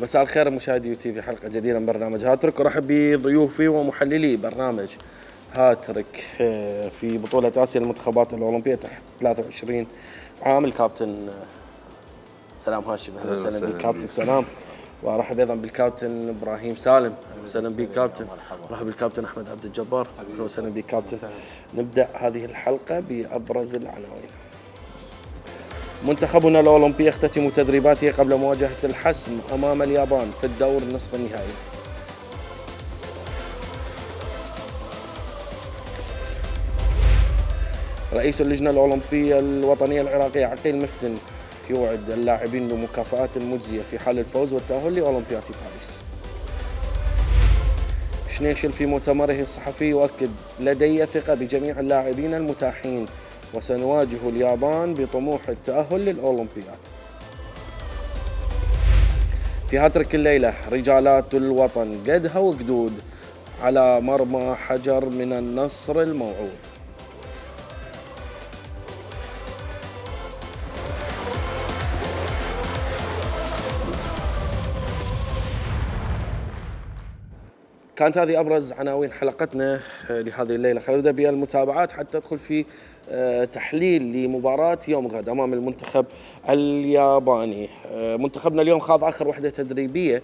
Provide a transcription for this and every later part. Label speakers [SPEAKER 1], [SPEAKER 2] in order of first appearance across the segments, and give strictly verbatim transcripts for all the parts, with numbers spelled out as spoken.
[SPEAKER 1] مساء الخير مشاهدي يو تي في، حلقة جديدة من برنامج هاتريك، ورحب بضيوفي ومحللي برنامج هاتريك في بطولة آسيا للمنتخبات الأولمبية تحت ثلاثة وعشرين عام. الكابتن سلام هاشم، أهلا وسهلا بك كابتن سلام. وارحب ايضا بالكابتن ابراهيم سالم، اهلا وسهلا بك كابتن. ارحب بالكابتن احمد عبد الجبار، اهلا وسهلا بك كابتن. نبدا هذه الحلقة بابرز العناوين. منتخبنا الأولمبي يختتم تدريباته قبل مواجهة الحسم أمام اليابان في الدور النصف النهائي. رئيس اللجنة الأولمبية الوطنية العراقية عقيل مفتن يوعد اللاعبين بمكافآت مجزية في حال الفوز والتأهل لأولمبياد باريس. شنيشل في مؤتمره الصحفي يؤكد: لدي ثقة بجميع اللاعبين المتاحين وسنواجه اليابان بطموح التأهل للأولمبياد. في هاتريك الليلة: رجالات الوطن قدها وقدود على مرمى حجر من النصر الموعود. كانت هذه أبرز عناوين حلقتنا لهذه الليلة. خلينا نبدأ بالمتابعات حتى ندخل في تحليل لمباراة يوم غد أمام المنتخب الياباني. منتخبنا اليوم خاض آخر وحدة تدريبية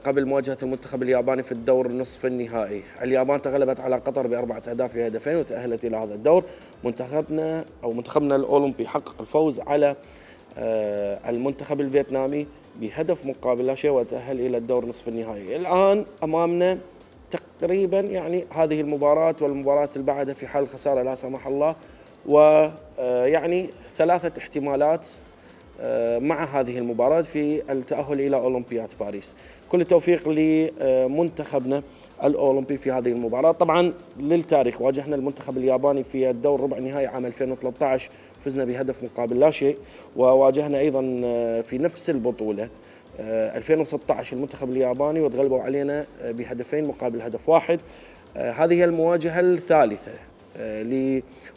[SPEAKER 1] قبل مواجهة المنتخب الياباني في الدور النصف النهائي. اليابان تغلبت على قطر بأربعة أهداف لهدفين وتأهلت إلى هذا الدور. منتخبنا أو منتخبنا الأولمبي حقق الفوز على المنتخب الفيتنامي بهدف مقابل لا شيء وتأهل إلى الدور نصف النهائي. الآن أمامنا تقريبا يعني هذه المباراة والمباراة اللي بعدها في حال الخسارة لا سمح الله، ويعني ثلاثة احتمالات مع هذه المباراة في التأهل إلى أولمبياد باريس. كل التوفيق لمنتخبنا الأولمبي في هذه المباراة. طبعا للتاريخ واجهنا المنتخب الياباني في الدور ربع نهائي عام ألفين وثلاثة عشر، فزنا بهدف مقابل لا شيء، وواجهنا أيضا في نفس البطولة ألفين وستة عشر المنتخب الياباني وتغلبوا علينا بهدفين مقابل هدف واحد. هذه هي المواجهة الثالثة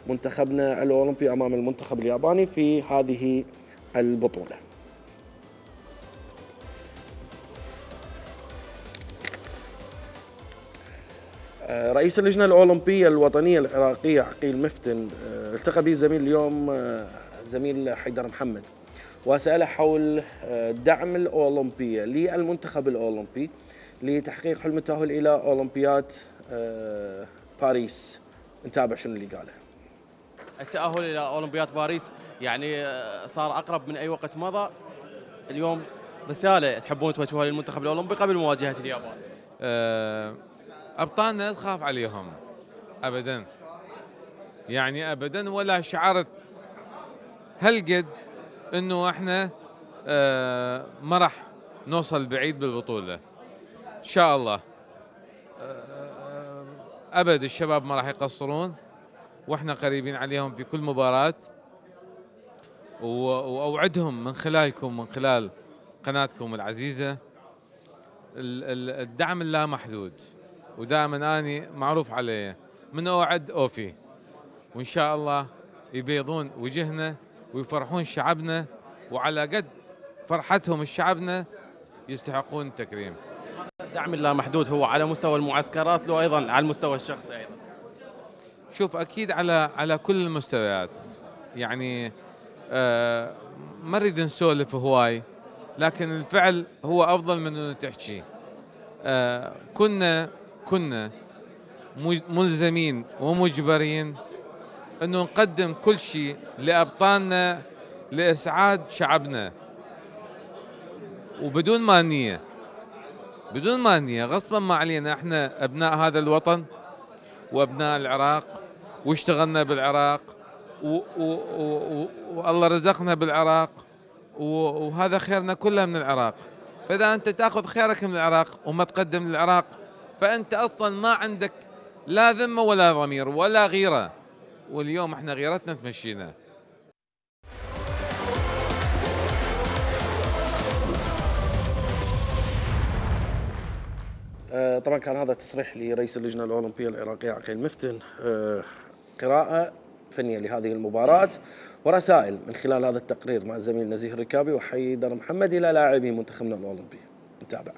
[SPEAKER 1] لمنتخبنا الأولمبي أمام المنتخب الياباني في هذه البطولة. رئيس اللجنة الأولمبية الوطنية العراقية عقيل مفتن التقى به زميل اليوم زميل حيدر محمد وسأله حول دعم الأولمبية للمنتخب الأولمبي لتحقيق حلم التأهل إلى أولمبياد باريس. نتابع شنو اللي قاله.
[SPEAKER 2] التأهل إلى أولمبياد باريس يعني صار أقرب من أي وقت مضى. اليوم رسالة تحبون توجهوها للمنتخب الأولمبي قبل مواجهة اليابان.
[SPEAKER 3] أه أبطالنا تخاف عليهم أبدا، يعني أبدا، ولا شعرت هالقد إنه إحنا أه ما راح نوصل بعيد بالبطولة إن شاء الله. أه أبد الشباب ما راح يقصرون، وإحنا قريبين عليهم في كل مباراة، وأوعدهم من خلالكم من خلال قناتكم العزيزة الدعم اللامحدود، ودائما أني معروف علي من أوعد أوفي، وإن شاء الله يبيضون وجهنا ويفرحون شعبنا، وعلى قد فرحتهم الشعبنا يستحقون التكريم.
[SPEAKER 2] الدعم اللامحدود هو على مستوى المعسكرات لو أيضا على المستوى الشخصي أيضا؟
[SPEAKER 3] شوف، أكيد على على كل المستويات، يعني آه ما نريد نسولف هواي، لكن الفعل هو أفضل من أنه تحكي. آه كنا كنا ملزمين ومجبرين أنه نقدم كل شيء لأبطالنا لإسعاد شعبنا، وبدون ما نية بدون ما نية غصبا ما علينا. احنا أبناء هذا الوطن وأبناء العراق، واشتغلنا بالعراق، والله رزقنا بالعراق، وهذا خيرنا كله من العراق. فإذا أنت تأخذ خيرك من العراق وما تقدم للعراق، فأنت أصلا ما عندك لا ذمة ولا ضمير ولا غيرة، واليوم احنا غيرتنا تمشينا.
[SPEAKER 1] طبعا كان هذا تصريح لرئيس اللجنة الأولمبية العراقية عقيل مفتن، قراءة فنية لهذه المباراة ورسائل من خلال هذا التقرير مع الزميل نزيه الركابي وحيدر محمد إلى لاعبي منتخبنا الأولمبي. نتابع.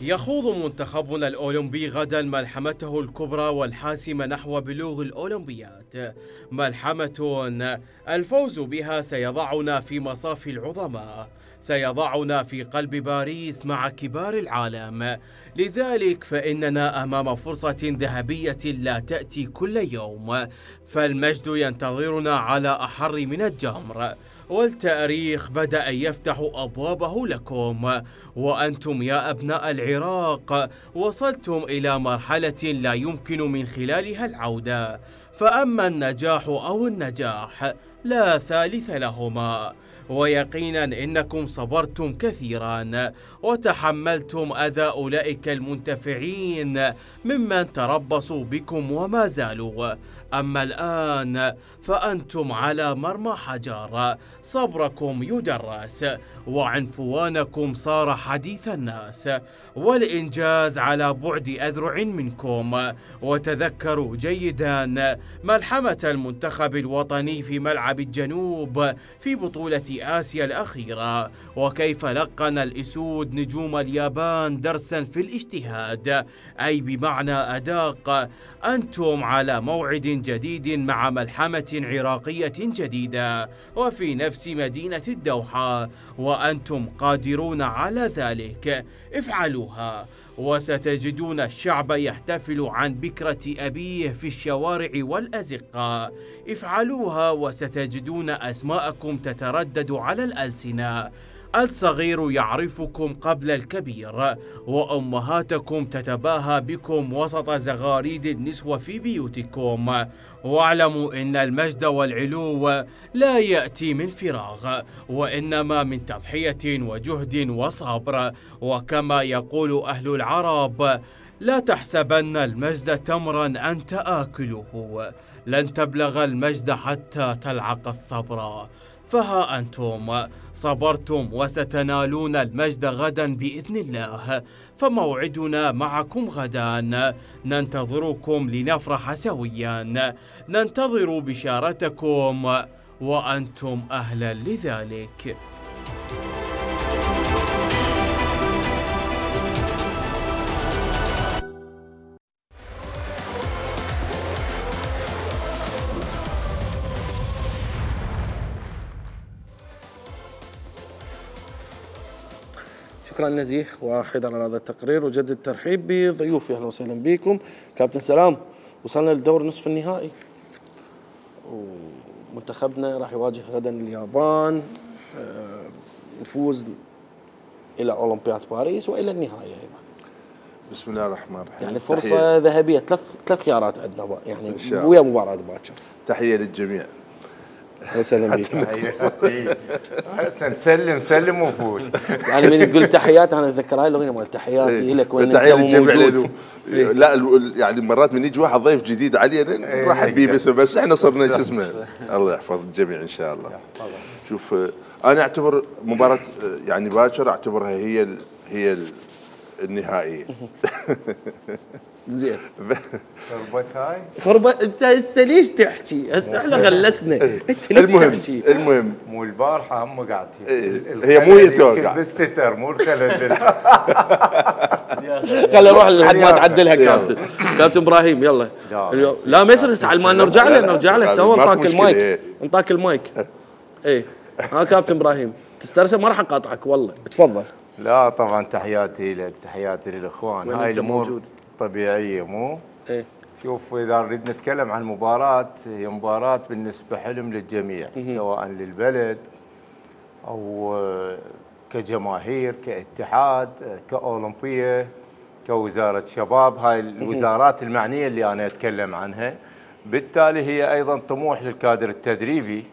[SPEAKER 2] يخوض منتخبنا الأولمبي غدا ملحمته الكبرى والحاسمة نحو بلوغ الأولمبياد، ملحمة الفوز بها سيضعنا في مصاف العظماء، سيضعنا في قلب باريس مع كبار العالم. لذلك فإننا أمام فرصة ذهبية لا تأتي كل يوم، فالمجد ينتظرنا على أحر من الجمر، والتاريخ بدأ يفتح أبوابه لكم. وأنتم يا أبناء العراق وصلتم إلى مرحلة لا يمكن من خلالها العودة، فأما النجاح أو النجاح لا ثالث لهما. ويقينا إنكم صبرتم كثيرا وتحملتم أذى أولئك المنتفعين ممن تربصوا بكم وما زالوا. أما الآن فأنتم على مرمى حجر، صبركم يدرس وعنفوانكم صار حديث الناس، والإنجاز على بعد أذرع منكم. وتذكروا جيدا ملحمة المنتخب الوطني في ملعب الجنوب في بطولة آسيا الأخيرة، وكيف لقن الأسود نجوم اليابان درسا في الاجتهاد، أي بمعنى أداق. أنتم على موعد جديد مع ملحمة عراقية جديدة وفي نفس مدينة الدوحة، وأنتم قادرون على ذلك. افعلوها وستجدون الشعب يحتفل عن بكرة أبيه في الشوارع والأزقة. افعلوها وستجدون أسماءكم تتردد على الألسنة. الصغير يعرفكم قبل الكبير، وأمهاتكم تتباهى بكم وسط زغاريد النسوة في بيوتكم. واعلموا إن المجد والعلو لا يأتي من فراغ، وإنما من تضحية وجهد وصبر. وكما يقول أهل العرب: لا تحسبن المجد تمرا أنت آكله، لن تبلغ المجد حتى تلعق الصبر. فها أنتم صبرتم وستنالون المجد غدا بإذن الله، فموعدنا معكم غدا. ننتظركم لنفرح سويا، ننتظر بشارتكم وأنتم أهلا لذلك.
[SPEAKER 1] شكرا نزيه وحيد على هذا التقرير، وجدد الترحيب بضيوفي. اهلا وسهلا بكم. كابتن سلام، وصلنا للدور نصف النهائي ومنتخبنا راح يواجه غدا اليابان، نفوز الى اولمبياد باريس والى النهايه ايضا.
[SPEAKER 4] بسم الله الرحمن الرحيم.
[SPEAKER 1] يعني فرصه ذهبيه، ثلاث ثلاث خيارات عندنا يعني ويا مباراه باكر.
[SPEAKER 4] تحيه للجميع.
[SPEAKER 1] اهلا وسهلا بك.
[SPEAKER 5] حسن سلم سلم وفوز.
[SPEAKER 1] يعني من تقول تحيات انا اتذكر هاي الاغنيه مال تحياتي لك وين
[SPEAKER 4] انت موجود. لا يعني مرات من يجي واحد ضيف جديد علينا نرحب به بس بس احنا صرنا شو اسمه. الله يحفظ الجميع ان شاء الله. شوف انا اعتبر مباراه يعني باكر اعتبرها هي ال هي ال النهائيه.
[SPEAKER 1] زين.
[SPEAKER 5] خربت هاي؟
[SPEAKER 1] خربت انت هسه ليش تحكي؟ هسه احنا غلسنا، انت ليش
[SPEAKER 4] المهم
[SPEAKER 1] تحكي؟
[SPEAKER 4] المهم
[SPEAKER 5] مو البارحه هم قاعدين.
[SPEAKER 4] هي مو هي توقع
[SPEAKER 5] بالستر مو الخلل.
[SPEAKER 1] خلي نروح لحد ما تعدلها كابتن. كابتن ابراهيم يلا. لا ما يصير هسه ما نرجع له نرجع له سوا نطاك المايك نطاك المايك. اي ها كابتن ابراهيم تسترسل ما راح اقاطعك والله، تفضل.
[SPEAKER 5] لا طبعا تحياتي لك، تحياتي للاخوان. هاي الامور طبيعيه مو؟
[SPEAKER 1] ايه.
[SPEAKER 5] شوف اذا نريد نتكلم عن المباراه، هي مباراه بالنسبه حلم للجميع سواء للبلد او كجماهير كاتحاد كاولمبيه كوزاره شباب، هاي الوزارات المعنيه اللي انا اتكلم عنها. بالتالي هي ايضا طموح للكادر التدريبي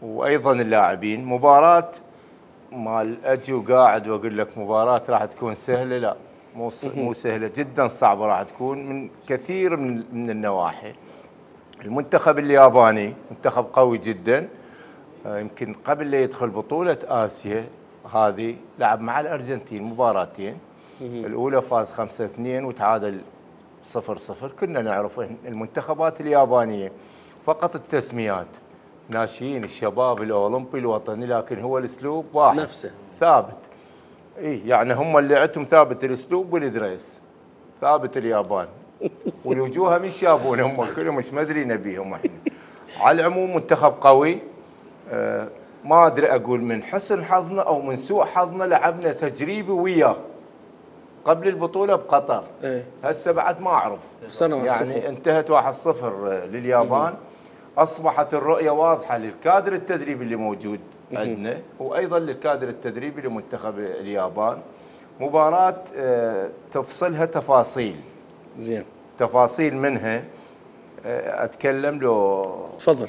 [SPEAKER 5] وايضا اللاعبين. مباراه مال اجي وقاعد واقول لك مباراه راح تكون سهله، لا مو مو سهله جدا، صعبه راح تكون من كثير من من النواحي. المنتخب الياباني منتخب قوي جدا، يمكن قبل لا يدخل بطوله اسيا هذه لعب مع الارجنتين مباراتين، الاولى فاز خمسة اثنين وتعادل صفر صفر كنا نعرف المنتخبات اليابانية فقط التسميات، ناشئين الشباب الأولمبي الوطني، لكن هو الأسلوب واحد
[SPEAKER 1] نفسه
[SPEAKER 5] ثابت. اي يعني هم اللي عندهم ثابت الأسلوب والدريس، ثابت اليابان والوجوه مش يابون هم كلهم، مش مدري نبيهم احنا. على العموم منتخب قوي، أه ما ادري اقول من حسن حظنا او من سوء حظنا، لعبنا تجريبي وياه قبل البطوله بقطر.
[SPEAKER 1] ايه
[SPEAKER 5] هسه بعد ما اعرف يعني
[SPEAKER 1] صفر.
[SPEAKER 5] انتهت واحد صفر لليابان. اصبحت الرؤيه واضحه للكادر التدريبي اللي موجود عندنا، وايضا للكادر التدريبي لمنتخب اليابان. مباراه أه تفصلها تفاصيل
[SPEAKER 1] زين،
[SPEAKER 5] تفاصيل منها أه اتكلم له
[SPEAKER 1] تفضل.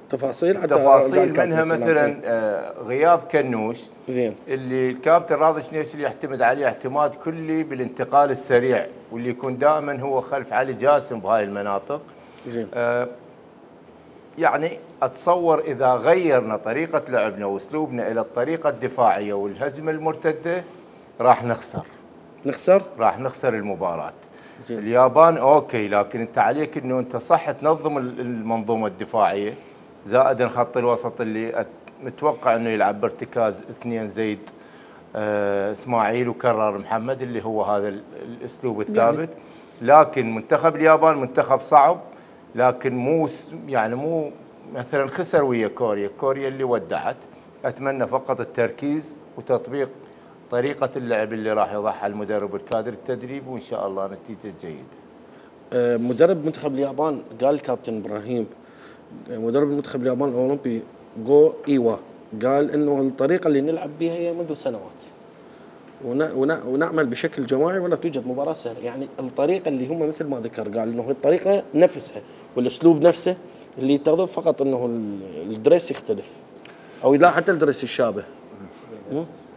[SPEAKER 1] تفاصيل حتى
[SPEAKER 5] تفاصيل منها مثلا آه غياب كنوش،
[SPEAKER 1] زين،
[SPEAKER 5] اللي الكابتن راضي شنيشلي يعتمد عليه اعتماد كلي بالانتقال السريع، واللي يكون دائما هو خلف علي جاسم بهاي المناطق.
[SPEAKER 1] زين.
[SPEAKER 5] آه يعني اتصور اذا غيرنا طريقه لعبنا واسلوبنا الى الطريقه الدفاعيه والهجمه المرتده راح نخسر
[SPEAKER 1] نخسر
[SPEAKER 5] راح نخسر المباراه.
[SPEAKER 1] زين.
[SPEAKER 5] اليابان اوكي، لكن انت عليك انه انت صح تنظم المنظومه الدفاعيه، زائدا خط الوسط اللي متوقع انه يلعب بارتكاز اثنين زيد آه اسماعيل وكرر محمد، اللي هو هذا الاسلوب الثابت. لكن منتخب اليابان منتخب صعب، لكن مو يعني مو مثلا خسر ويا كوريا، كوريا اللي ودعت. اتمنى فقط التركيز وتطبيق طريقه اللعب اللي راح يضعها المدرب والكادر التدريبي، وان شاء الله نتيجه جيده.
[SPEAKER 1] آه مدرب منتخب اليابان قال الكابتن ابراهيم، مدرب المنتخب الياباني الاولمبي جو ايوا، قال انه الطريقه اللي نلعب بها هي منذ سنوات ونعمل بشكل جماعي ولا توجد مباراه سهله. يعني الطريقه اللي هم مثل ما ذكر، قال انه الطريقه نفسها والاسلوب نفسه اللي يتغضب، فقط انه الدريس يختلف او لا حتى الدريس يشابه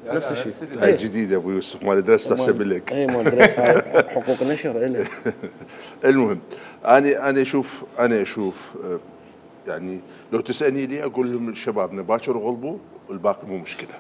[SPEAKER 1] نفس الشيء.
[SPEAKER 4] هاي جديده ابو يوسف، مال دريس تحسب لك.
[SPEAKER 1] اي مال دريس هاي حقوق نشر إله.
[SPEAKER 4] المهم انا انا اشوف انا اشوف يعني لو تسالني لي اقول لهم شبابنا باكر غلبوا والباقي مو مشكله،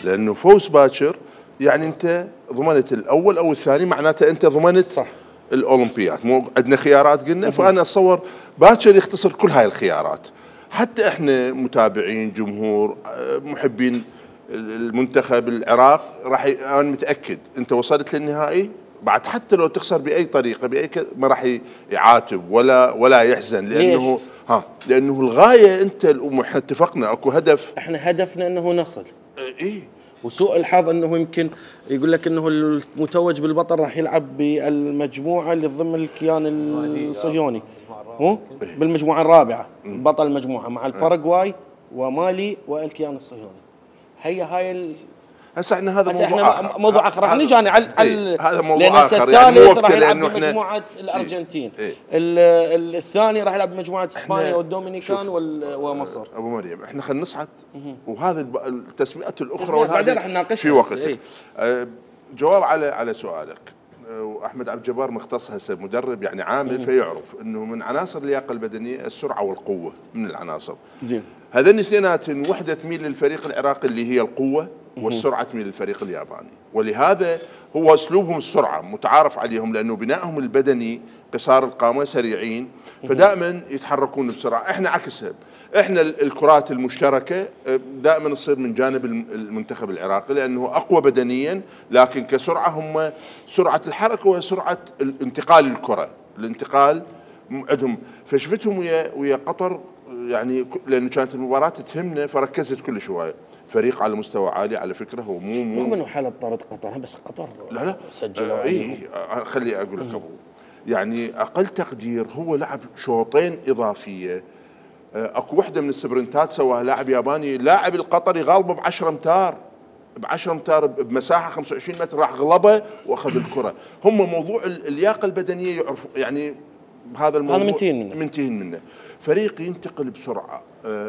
[SPEAKER 4] لانه فوز باكر يعني انت ضمنت الاول او الثاني، معناته انت ضمنت
[SPEAKER 1] صح
[SPEAKER 4] الاولمبيات. مو عندنا خيارات قلنا، فانا اتصور باكر يختصر كل هاي الخيارات. حتى احنا متابعين جمهور محبين المنتخب العراق راح ي... انا متاكد انت وصلت للنهائي بعد، حتى لو تخسر باي طريقه باي ك... ما راح يعاتب ولا ولا يحزن، لانه
[SPEAKER 1] ليش؟
[SPEAKER 4] ها لانه الغايه انت احنا اتفقنا اكو هدف،
[SPEAKER 1] احنا هدفنا انه نصل.
[SPEAKER 4] اي
[SPEAKER 1] وسوء الحظ انه يمكن يقول لك انه المتوج بالبطل راح يلعب بالمجموعه اللي ضمن الكيان الصهيوني، هو بالمجموعه الرابعه، بطل المجموعه مع الباراغواي ومالي والكيان الصهيوني. هي هاي ال...
[SPEAKER 4] هسه احنا هذا
[SPEAKER 1] هسه
[SPEAKER 4] موضوع
[SPEAKER 1] احنا
[SPEAKER 4] اخر،
[SPEAKER 1] موضوع اخر راح نجي على على
[SPEAKER 4] ايه هذا موضوع
[SPEAKER 1] لان
[SPEAKER 4] اخر.
[SPEAKER 1] يعني الثالث راح يلعب
[SPEAKER 4] احنا
[SPEAKER 1] بمجموعه الارجنتين،
[SPEAKER 4] ايه
[SPEAKER 1] الثاني راح يلعب بمجموعه اسبانيا والدومينيكان ومصر.
[SPEAKER 4] ابو مريم احنا خلينا نصعد، وهذا التسميات الاخرى
[SPEAKER 1] تسميات بعدين راح نناقشها
[SPEAKER 4] في وقت.
[SPEAKER 1] ايه.
[SPEAKER 4] أه جواب على على سؤالك، واحمد عبد الجبار مختص هسه مدرب يعني عامل، فيعرف انه من عناصر اللياقه البدنيه السرعه والقوه من العناصر.
[SPEAKER 1] زين،
[SPEAKER 4] هذين الاثنينات وحده تميل للفريق العراقي اللي هي القوه، والسرعه تميل للفريق الياباني، ولهذا هو اسلوبهم السرعه متعارف عليهم، لانه بنائهم البدني قصار القامه سريعين، فدائما يتحركون بسرعه. احنا عكسها، احنا الكرات المشتركه دائما تصير من جانب المنتخب العراقي، لانه اقوى بدنيا، لكن كسرعه هم سرعه الحركه وسرعه انتقال الكره، الانتقال عندهم. فشفتهم ويا ويا قطر يعني، لانه كانت المباراه تهمنا فركزت كل شويه. فريق على مستوى عالي على فكره، هو مو مو
[SPEAKER 1] رغم انه حاله طارد قطر، بس قطر
[SPEAKER 4] لا لا
[SPEAKER 1] سجلوا.
[SPEAKER 4] آه اي خلي اقول لك ابو، يعني اقل تقدير هو لعب شوطين اضافيه. اكو وحده من السبرنتات سواها لاعب ياباني، لاعب القطري غالبه ب عشرة امتار، ب عشرة امتار بمساحه خمسة وعشرين متر، راح غلبه واخذ الكره. هم موضوع اللياقه البدنيه يعرفوا يعني بهذا الموضوع،
[SPEAKER 1] هذا منتهين منه
[SPEAKER 4] منتهين منه. فريق ينتقل بسرعه،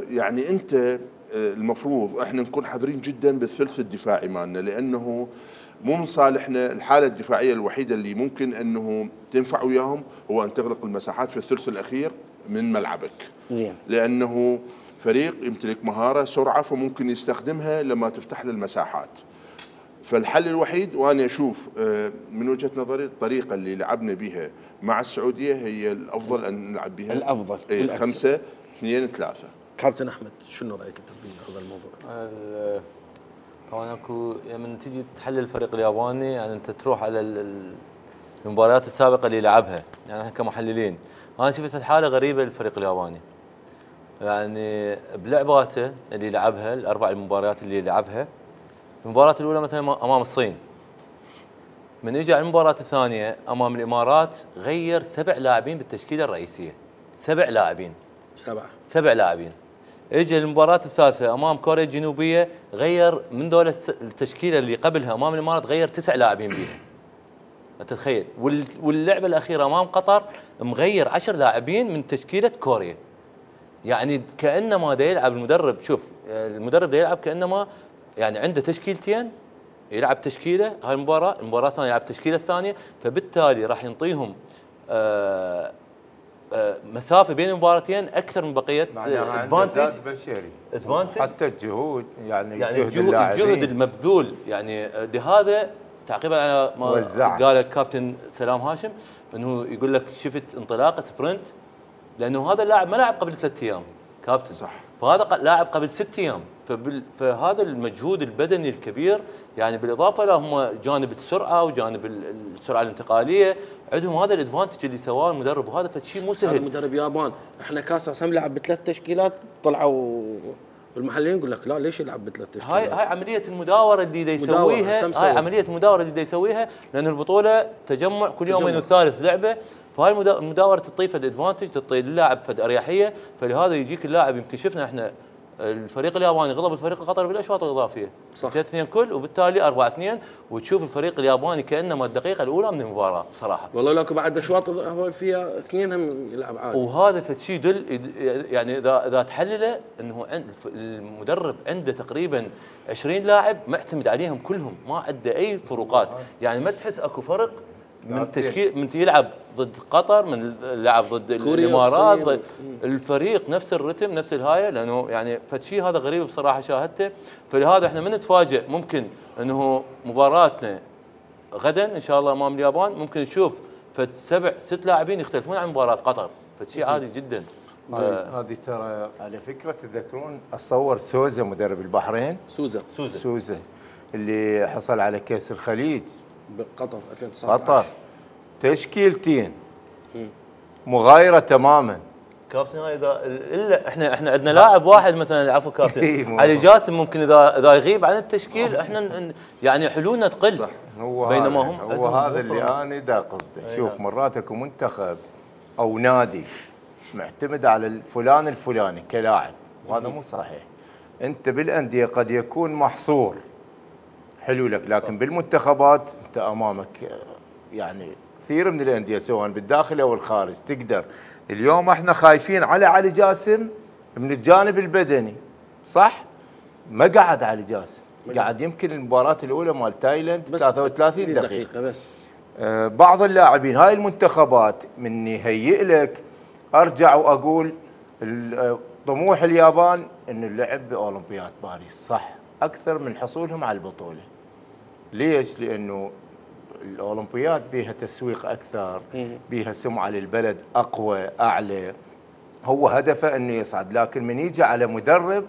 [SPEAKER 4] يعني انت المفروض احنا نكون حذرين جدا بالثلث الدفاعي مالنا، لانه مو من صالحنا. الحاله الدفاعيه الوحيده اللي ممكن انه تنفع وياهم هو ان تغلق المساحات في الثلث الاخير من ملعبك.
[SPEAKER 1] زين،
[SPEAKER 4] لانه فريق يمتلك مهاره سرعه، فممكن يستخدمها لما تفتح له المساحات. فالحل الوحيد وانا اشوف آه، من وجهه نظري الطريقه اللي لعبنا بها مع السعوديه هي الافضل ان نلعب بها
[SPEAKER 1] الافضل
[SPEAKER 4] إيه
[SPEAKER 1] والأكثر.
[SPEAKER 4] خمسة اثنين ثلاثة.
[SPEAKER 1] كابتن احمد شنو رايك انت بهذا الموضوع؟
[SPEAKER 6] ال- طبعا اكو لما تيجي تحلل الفريق الياباني يعني انت تروح على ال- ال- المباريات السابقه اللي لعبها، يعني احنا كمحللين انا شفت حاله غريبه للفريق الياباني. يعني بلعباته اللي لعبها الاربع المباريات اللي لعبها، المباراه الاولى مثلا امام الصين، من اجى على المباراه الثانيه امام الامارات غير سبع لاعبين بالتشكيله الرئيسيه، سبع لاعبين
[SPEAKER 1] سبعه
[SPEAKER 6] سبع لاعبين. اجى المباراة الثالثة امام كوريا الجنوبية غير من دول الس- التشكيلة اللي قبلها امام الامارات غير تسع لاعبين بيها. تتخيل، وال- واللعبة الأخيرة امام قطر مغير عشر لاعبين من تشكيلة كوريا. يعني كأنما دا يلعب المدرب، شوف المدرب دا يلعب كأنما يعني عنده تشكيلتين، يلعب تشكيلة هاي المباراة، المباراة الثانية يلعب التشكيلة الثانية، فبالتالي راح ينطيهم آه آه مسافة بين المباراتين أكثر من بقية
[SPEAKER 5] معناها عنده
[SPEAKER 6] ادفانتج
[SPEAKER 5] زاد بشري
[SPEAKER 6] ادفانتج
[SPEAKER 5] حتى الجهود، يعني,
[SPEAKER 6] يعني
[SPEAKER 5] جهد
[SPEAKER 6] الجهد,
[SPEAKER 5] اللاعبين
[SPEAKER 6] الجهد المبذول. يعني لهذا تعقيبا على ما
[SPEAKER 5] وزعها.
[SPEAKER 6] قال الكابتن سلام هاشم، انه يقول لك شفت انطلاقه سبرنت، لانه هذا اللاعب ما لعب قبل ثلاث ايام كابتن،
[SPEAKER 4] صح.
[SPEAKER 6] فهذا ق- لاعب قبل ست ايام، فبال... فهذا المجهود البدني الكبير، يعني بالاضافه لهم جانب السرعه وجانب ال- السرعه الانتقاليه، عندهم هذا الادفانتج اللي سواه المدرب، وهذا فشيء مو
[SPEAKER 1] هذا
[SPEAKER 6] سهل.
[SPEAKER 1] مدرب يابان، احنا كاس هم لعب بثلاث تشكيلات، طلعوا المحللين يقول لك لا ليش يلعب بثلاث تشكيلات؟
[SPEAKER 6] هاي هاي عمليه المداوره اللي دا
[SPEAKER 1] مداورة،
[SPEAKER 6] يسويها،
[SPEAKER 1] شو
[SPEAKER 6] هاي
[SPEAKER 1] مسوي؟
[SPEAKER 6] عمليه المداوره اللي دا يسويها، لان البطوله تجمع كل يومين
[SPEAKER 1] تجمع.
[SPEAKER 6] وثالث لعبه، فهاي المدا- المداوره تعطيه فد ادفانتج، تعطي اللاعب فد اريحيه، فلهذا يجيك اللاعب. يمكن شفنا احنا الفريق الياباني غلب الفريق القطري بالاشواط الاضافيه
[SPEAKER 1] صح.
[SPEAKER 6] ثلاثة اثنين كل، وبالتالي أربعة اثنين، وتشوف الفريق الياباني كانما الدقيقه الاولى من المباراه بصراحه.
[SPEAKER 1] والله لك بعد اشواط هو فيها اثنين هم يلعب عادي.
[SPEAKER 6] وهذا فشي يدل، يعني اذا اذا تحلله انه عند المدرب عنده تقريبا عشرين لاعب معتمد عليهم كلهم، ما عنده اي فروقات، يعني ما تحس اكو فرق من تشكيل من يلعب ضد قطر، من لعب ضد
[SPEAKER 1] كوريا
[SPEAKER 6] الامارات،
[SPEAKER 1] والصين.
[SPEAKER 6] ضد الفريق نفس الرتم نفس الهايه، لانه يعني فشي هذا غريب بصراحه شاهدته. فلهذا احنا من نتفاجئ ممكن انه مباراتنا غدا ان شاء الله امام اليابان ممكن نشوف فد سبع ست لاعبين يختلفون عن مباراه قطر، فشي عادي جدا.
[SPEAKER 5] هذه هذه ترى على فكره تذكرون اتصور سوزا مدرب البحرين،
[SPEAKER 1] سوزا
[SPEAKER 6] سوزا
[SPEAKER 5] سوزا اللي حصل على كاس الخليج
[SPEAKER 1] بقطر ألفين وتسعة عشر.
[SPEAKER 5] قطر، تشكيلتين مغايره تماما.
[SPEAKER 6] كابتن هاي اذا الا احنا احنا عندنا لاعب واحد مثلا، عفوا
[SPEAKER 5] إيه،
[SPEAKER 6] كابتن
[SPEAKER 5] مو-
[SPEAKER 6] علي جاسم، ممكن اذا اذا يغيب عن التشكيل احنا ن- يعني حلولنا تقل.
[SPEAKER 4] صح.
[SPEAKER 5] هو
[SPEAKER 6] بينما
[SPEAKER 5] هذا
[SPEAKER 6] هم
[SPEAKER 5] هو
[SPEAKER 6] عندهم
[SPEAKER 5] هذا اللي
[SPEAKER 6] وفرة.
[SPEAKER 5] انا دا قصدي. شوف مرات اكو منتخب او نادي معتمد على الفلان الفلاني كلاعب، وهذا مو صحيح. انت بالانديه قد يكون محصور، حلو لك، لكن بالمنتخبات انت امامك يعني كثير من الانديه سواء بالداخل او الخارج تقدر. اليوم احنا خايفين على علي جاسم من الجانب البدني، صح؟ ما قعد علي جاسم، قعد يمكن المباراه الاولى مال تايلاند
[SPEAKER 1] بس
[SPEAKER 5] ثلاثة وثلاثين
[SPEAKER 1] دقيقة,
[SPEAKER 5] دقيقه.
[SPEAKER 1] بس.
[SPEAKER 5] آه، بعض اللاعبين هاي المنتخبات من يهيئ لك، ارجع واقول ال- آه، طموح اليابان انه اللعب باولمبياد باريس، صح، اكثر من حصولهم على البطوله. ليش؟ لانه الاولمبياد بيها تسويق اكثر، بيها سمعه للبلد اقوى اعلى، هو هدفه انه يصعد. لكن من يجي على مدرب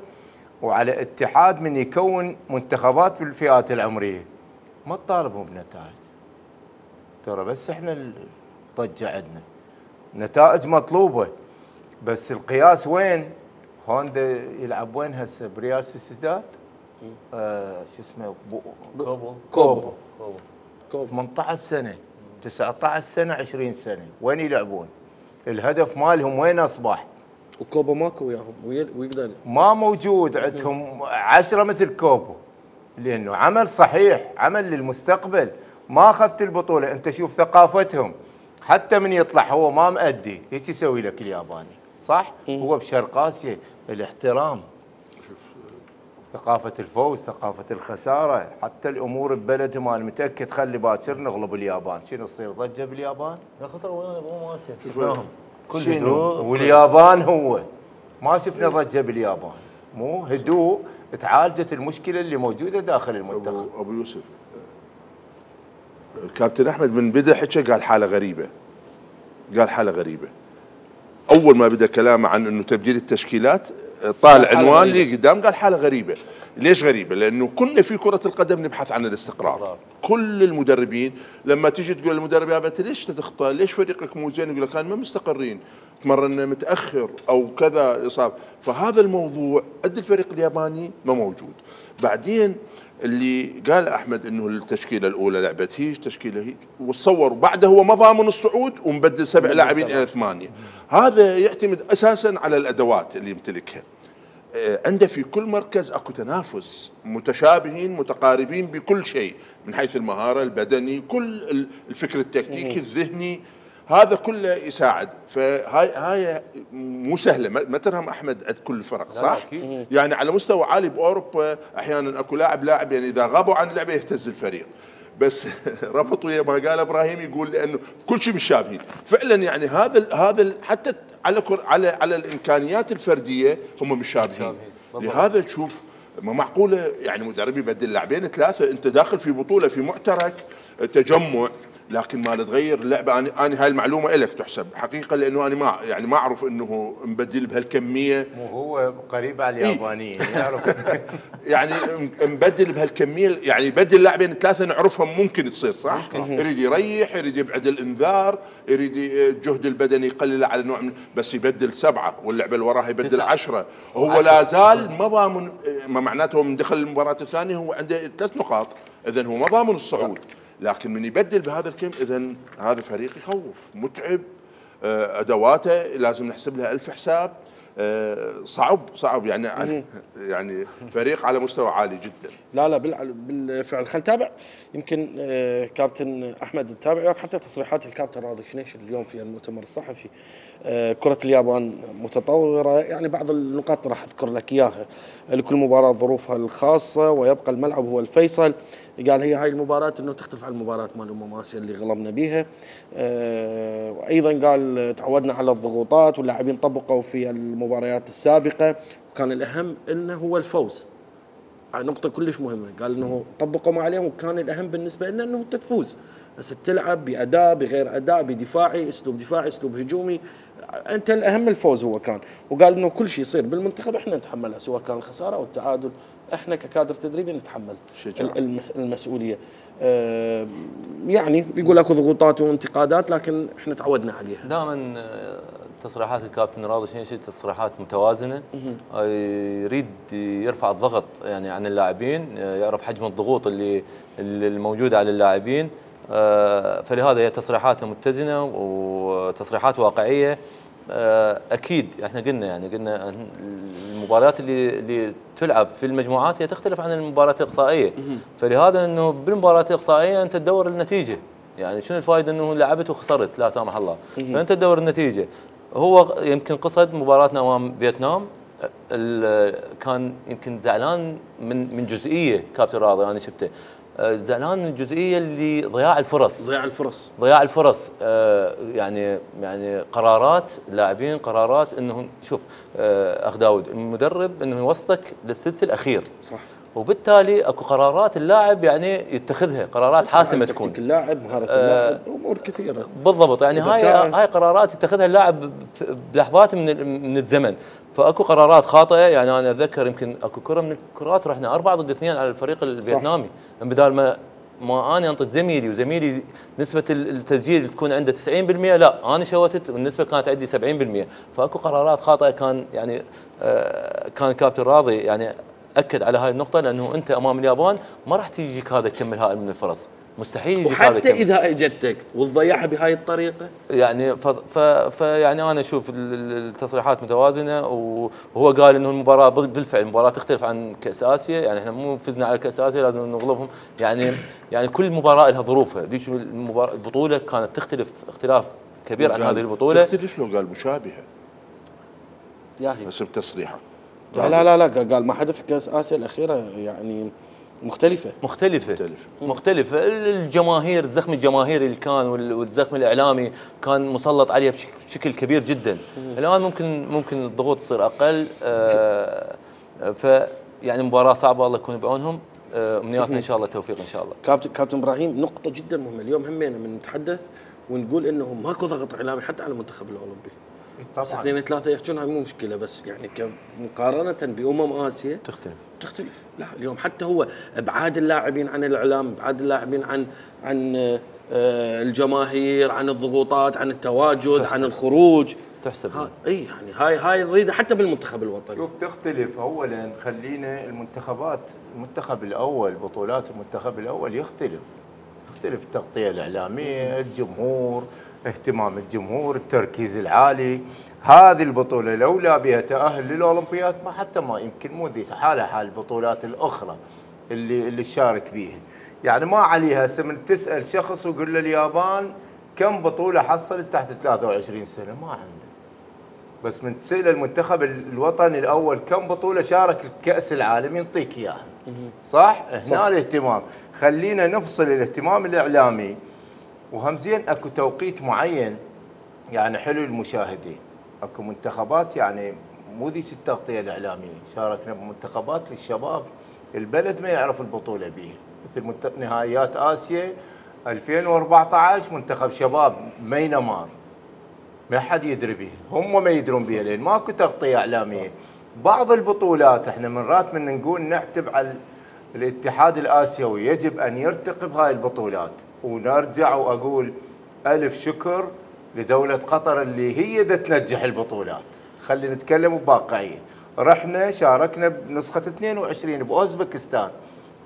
[SPEAKER 5] وعلى اتحاد من يكون منتخبات في الفئات العمريه ما تطالبهم بنتائج، ترى بس احنا الضجه عندنا نتائج مطلوبه، بس القياس وين؟ هوندا يلعب وين هسه؟ بريال سوسيداد، آه شو اسمه، بو-
[SPEAKER 6] كوبو
[SPEAKER 5] كوبو،
[SPEAKER 1] كوبو.
[SPEAKER 5] ثمانية عشر سنه، تسعة عشر سنه، عشرين سنه، وين يلعبون؟ الهدف مالهم وين اصبح؟
[SPEAKER 1] وكوبا ماكو وياهم وي- ويقدر
[SPEAKER 5] ما موجود عندهم عشرة مثل كوبو، لانه عمل صحيح، عمل للمستقبل. ما اخذت البطوله، انت شوف ثقافتهم، حتى من يطلع هو ما مأدي هيك يسوي لك الياباني، صح؟ هو بشرق اسيا الاحترام، ثقافه الفوز، ثقافه الخساره، حتى الامور ببلدهم. انا متاكد خلي باكر نغلب اليابان، شنو يصير ضجه باليابان؟
[SPEAKER 6] لا خسر وين ابو اسيا شفناهم كل
[SPEAKER 5] شنو؟
[SPEAKER 6] هدوء.
[SPEAKER 5] واليابان هو ما شفنا ضجه باليابان، مو هدوء، تعالجت المشكله اللي موجوده داخل المنتخب.
[SPEAKER 4] ابو, أبو يوسف، كابتن احمد من بدا حكى قال حاله غريبه، قال حاله غريبه. اول ما بدا كلامه عن انه تبديل التشكيلات طالع عنوان لي قدام قال حاله غريبه. ليش غريبه؟ لانه كنا في كره القدم نبحث عن الاستقرار. كل المدربين لما تيجي تقول للمدرب يا بنت ليش تخطئ؟ ليش فريقك مو زين؟ يقول لك انا ما مستقرين، تمرنا متاخر او كذا اصابه، فهذا الموضوع قد الفريق الياباني ما موجود. بعدين اللي قال احمد انه التشكيله الاولى لعبت هيك تشكيله هيك، وتصور بعده هو ما ضامن الصعود ومبدل سبع لاعبين الى ثمانيه. هذا يعتمد اساسا على الادوات اللي يمتلكها. عنده في كل مركز اكو تنافس، متشابهين متقاربين بكل شيء من حيث المهاره البدني، كل الفكر التكتيكي الذهني، هذا كله يساعد. فهاي هاي مو سهله، ما ترهم احمد عند كل الفرق صح؟ يعني على مستوى عالي باوروبا احيانا اكو لاعب لاعب يعني اذا غابوا عن اللعبه يهتز الفريق، بس ربط ويا ما قال ابراهيم يقول لانه كل شيء متشابهين فعلا. يعني هذا هذا حتى على على على الامكانيات الفرديه هم متشابهين. لهذا تشوف ما معقوله يعني مدرب يبدل لاعبين ثلاثه، انت داخل في بطوله في معترك تجمع، لكن ما تغير اللعبه. انا انا هاي المعلومه لك تحسب حقيقه، لانه انا ما يعني ما اعرف انه مبدل بهالكميه.
[SPEAKER 5] وهو قريب على اليابانيين يعرف
[SPEAKER 4] يعني مبدل بهالكميه، يعني يبدل لاعبين ثلاثه نعرفهم ممكن تصير صح؟ يريد يريح، يريد يبعد الانذار، يريد الجهد البدني يقلل على نوع من، بس يبدل سبعه واللعبه اللي وراها يبدل عشرة، وهو لا زال ما ضامن. ما معناته من دخل المباراه الثانيه هو عنده ثلاث نقاط، اذا هو ما ضامن الصعود. لكن من يبدل بهذا الكم اذا هذا فريق يخوف متعب. ادواته لازم نحسب لها ألف حساب. صعب صعب يعني يعني فريق على مستوى عالي جدا.
[SPEAKER 1] لا لا بالفعل. خلينا نتابع يمكن كابتن احمد نتابع وياك حتى تصريحات الكابتن راضي شنيشل اليوم في المؤتمر الصحفي. كرة اليابان متطورة، يعني بعض النقاط راح اذكر لك اياها. لكل مباراة ظروفها الخاصة ويبقى الملعب هو الفيصل. قال هي هاي المباراة انه تختلف عن المباراة مال امم اسيا اللي غلبنا بيها. وايضا قال تعودنا على الضغوطات واللاعبين طبقوا في المباريات السابقة، وكان الاهم انه هو الفوز. نقطة كلش مهمة. قال انه طبقوا ما عليهم، وكان الاهم بالنسبة لنا انه تفوز، بس تلعب باداء بغير اداء، بدفاعي اسلوب دفاعي اسلوب هجومي، انت الاهم الفوز هو كان. وقال انه كل شيء يصير بالمنتخب احنا نتحملها، سواء كان الخسارة او التعادل، احنا ككادر تدريبي نتحمل شجاع. المسؤولية. آه يعني بيقول اكو ضغوطات وانتقادات لكن احنا تعودنا عليها.
[SPEAKER 6] دائما تصريحات الكابتن راضي شنيشل تصريحات متوازنه، يريد يرفع الضغط يعني عن اللاعبين، يعرف حجم الضغوط اللي الموجوده على اللاعبين، فلهذا هي تصريحاته متزنه وتصريحات واقعيه. اكيد احنا قلنا يعني قلنا المباريات اللي اللي تلعب في المجموعات هي تختلف عن المباريات الاقصائيه، فلهذا انه بالمباريات الاقصائيه انت تدور النتيجه، يعني شنو الفائده انه لعبت وخسرت لا سامح الله، فانت تدور النتيجه. هو يمكن قصد مباراتنا امام فيتنام كان يمكن زعلان من من جزئيه كابتن راضي انا شفته، زعلان من الجزئيه اللي ضياع الفرص
[SPEAKER 1] ضياع الفرص
[SPEAKER 6] ضياع الفرص آه يعني يعني قرارات اللاعبين، قرارات انه شوف آه اخ داود المدرب انه يوصلك للثلث الاخير
[SPEAKER 1] صح،
[SPEAKER 6] وبالتالي اكو قرارات اللاعب يعني يتخذها قرارات حاسمه تكون
[SPEAKER 1] اللاعب مهاره اللاعب امور كثيره
[SPEAKER 6] بالضبط، يعني هاي هاي قرارات يتخذها اللاعب بلحظات من من الزمن، فاكو قرارات خاطئه. يعني انا اتذكر يمكن اكو كره من الكرات رحنا أربعة ضد اثنين على الفريق الفيتنامي، بدال ما ما انا انطي زميلي وزميلي نسبه التسجيل تكون عنده تسعين بالمئة، لا انا شوتت والنسبه كانت عندي سبعين بالمئة، فاكو قرارات خاطئه. كان يعني آه كان كابتن راضي يعني اكد على هاي النقطه، لانه انت امام اليابان ما راح تجيك هذا الكم الهائل من الفرص، مستحيل يجيك هذا
[SPEAKER 1] الكم، وحتى اذا اجتك وتضيعها بهاي الطريقه.
[SPEAKER 6] يعني ف ف يعني انا اشوف التصريحات متوازنه، وهو قال انه المباراه بالفعل المباراه تختلف عن كاس اسيا، يعني احنا مو فزنا على كاس اسيا لازم نغلبهم، يعني يعني كل مباراه لها ظروفها، ذيك البطوله كانت تختلف اختلاف كبير عن هذه البطوله.
[SPEAKER 4] تختلف لو قال مشابهه
[SPEAKER 1] ياهي
[SPEAKER 4] حسب تصريحه.
[SPEAKER 1] لا لا لا لا قال ما حدا في كاس اسيا الاخيره يعني مختلفة
[SPEAKER 6] مختلفة مختلفة, مختلفة. الجماهير الزخم الجماهيري اللي كان والزخم الإعلامي كان مسلط عليه بشكل كبير جدا. الآن ممكن ممكن الضغوط تصير أقل. آه ف يعني مباراة صعبة الله يكون بعونهم. آه، امنياتنا ان شاء الله توفيق ان شاء الله.
[SPEAKER 1] كابتن كابتن ابراهيم، نقطه جدا مهمه اليوم همينا من نتحدث ونقول انه ماكو ضغط اعلامي حتى على المنتخب الاولمبي.
[SPEAKER 5] طبعا
[SPEAKER 1] اثنين ثلاثه يحجون هاي مو مشكله، بس يعني مقارنه بامم اسيا
[SPEAKER 6] تختلف
[SPEAKER 1] تختلف. لا اليوم حتى هو ابعاد اللاعبين عن الاعلام، ابعاد اللاعبين عن عن آه، الجماهير، عن الضغوطات، عن التواجد،
[SPEAKER 6] تحسب.
[SPEAKER 1] عن الخروج.
[SPEAKER 6] تحسب.
[SPEAKER 1] ها اي يعني هاي هاي نريدها حتى بالمنتخب الوطني.
[SPEAKER 5] شوف تختلف. اولا خلينا المنتخبات، المنتخب الاول، بطولات المنتخب الاول يختلف يختلف التغطيه الاعلاميه، الجمهور، اهتمام الجمهور، التركيز العالي. هذه البطوله لولا بها تاهل للاولمبياد ما حتى ما يمكن مو ذي حالها حال البطولات الاخرى اللي اللي شارك بيها. يعني ما عليها هسه من تسال شخص ويقول له اليابان كم بطوله حصلت تحت ثلاثة وعشرين سنه ما عنده. بس من تسال المنتخب الوطني الاول كم بطوله شارك الكاس العالم يعطيك اياها. صح؟ هنا الاهتمام. خلينا نفصل الاهتمام الاعلامي، وهم زين اكو توقيت معين يعني حلو للمشاهدين. اكو منتخبات يعني مو ذيك التغطيه الاعلاميه، شاركنا بمنتخبات للشباب البلد ما يعرف البطوله بيه، مثل نهائيات اسيا ألفين وأربعة عشر منتخب شباب مينمار ما حد يدري بيه، هم ما يدرون بيه لان ماكو تغطيه اعلاميه. بعض البطولات احنا مرات من نقول نعتب على الاتحاد الاسيوي، يجب ان يرتقي بهاي البطولات. ونرجع واقول الف شكر لدوله قطر اللي هي دا تنجح البطولات. خلينا نتكلم بواقعيه. رحنا شاركنا بنسخه اثنين وعشرين باوزبكستان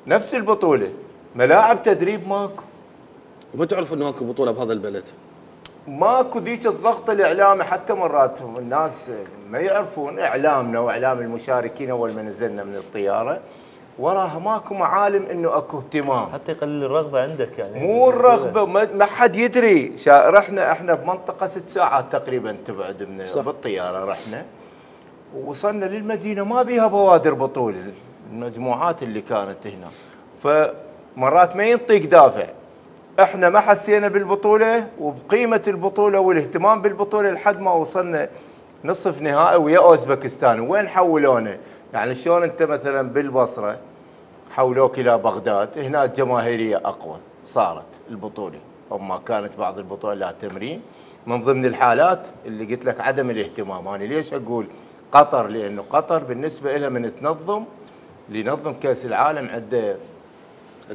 [SPEAKER 5] نفس البطوله، ملاعب تدريب ماكو.
[SPEAKER 1] وما تعرف انه اكو بطوله بهذا البلد.
[SPEAKER 5] ماكو ذيك الضغط الاعلامي، حتى مرات الناس ما يعرفون اعلامنا واعلام المشاركين اول ما نزلنا من الطياره وراها ماكو معالم انه اكو اهتمام.
[SPEAKER 6] حتى يقلل الرغبه عندك يعني.
[SPEAKER 5] مو الرغبه، ما حد يدري. رحنا احنا بمنطقه ست ساعات تقريبا تبعد من صح. بالطياره رحنا ووصلنا للمدينه ما بيها بوادر بطوله، المجموعات اللي كانت هنا. فمرات ما ينطيك دافع. احنا ما حسينا بالبطوله وبقيمه البطوله والاهتمام بالبطوله لحد ما وصلنا نصف نهائي ويا اوزبكستان. وين حولونا؟ يعني شلون انت مثلا بالبصره حولوك الى بغداد، هنا الجماهيريه اقوى صارت البطوله، اما كانت بعض البطولات تمرين. من ضمن الحالات اللي قلت لك عدم الاهتمام. انا ليش اقول قطر؟ لانه قطر بالنسبه لها من تنظم لنظم كاس العالم عنده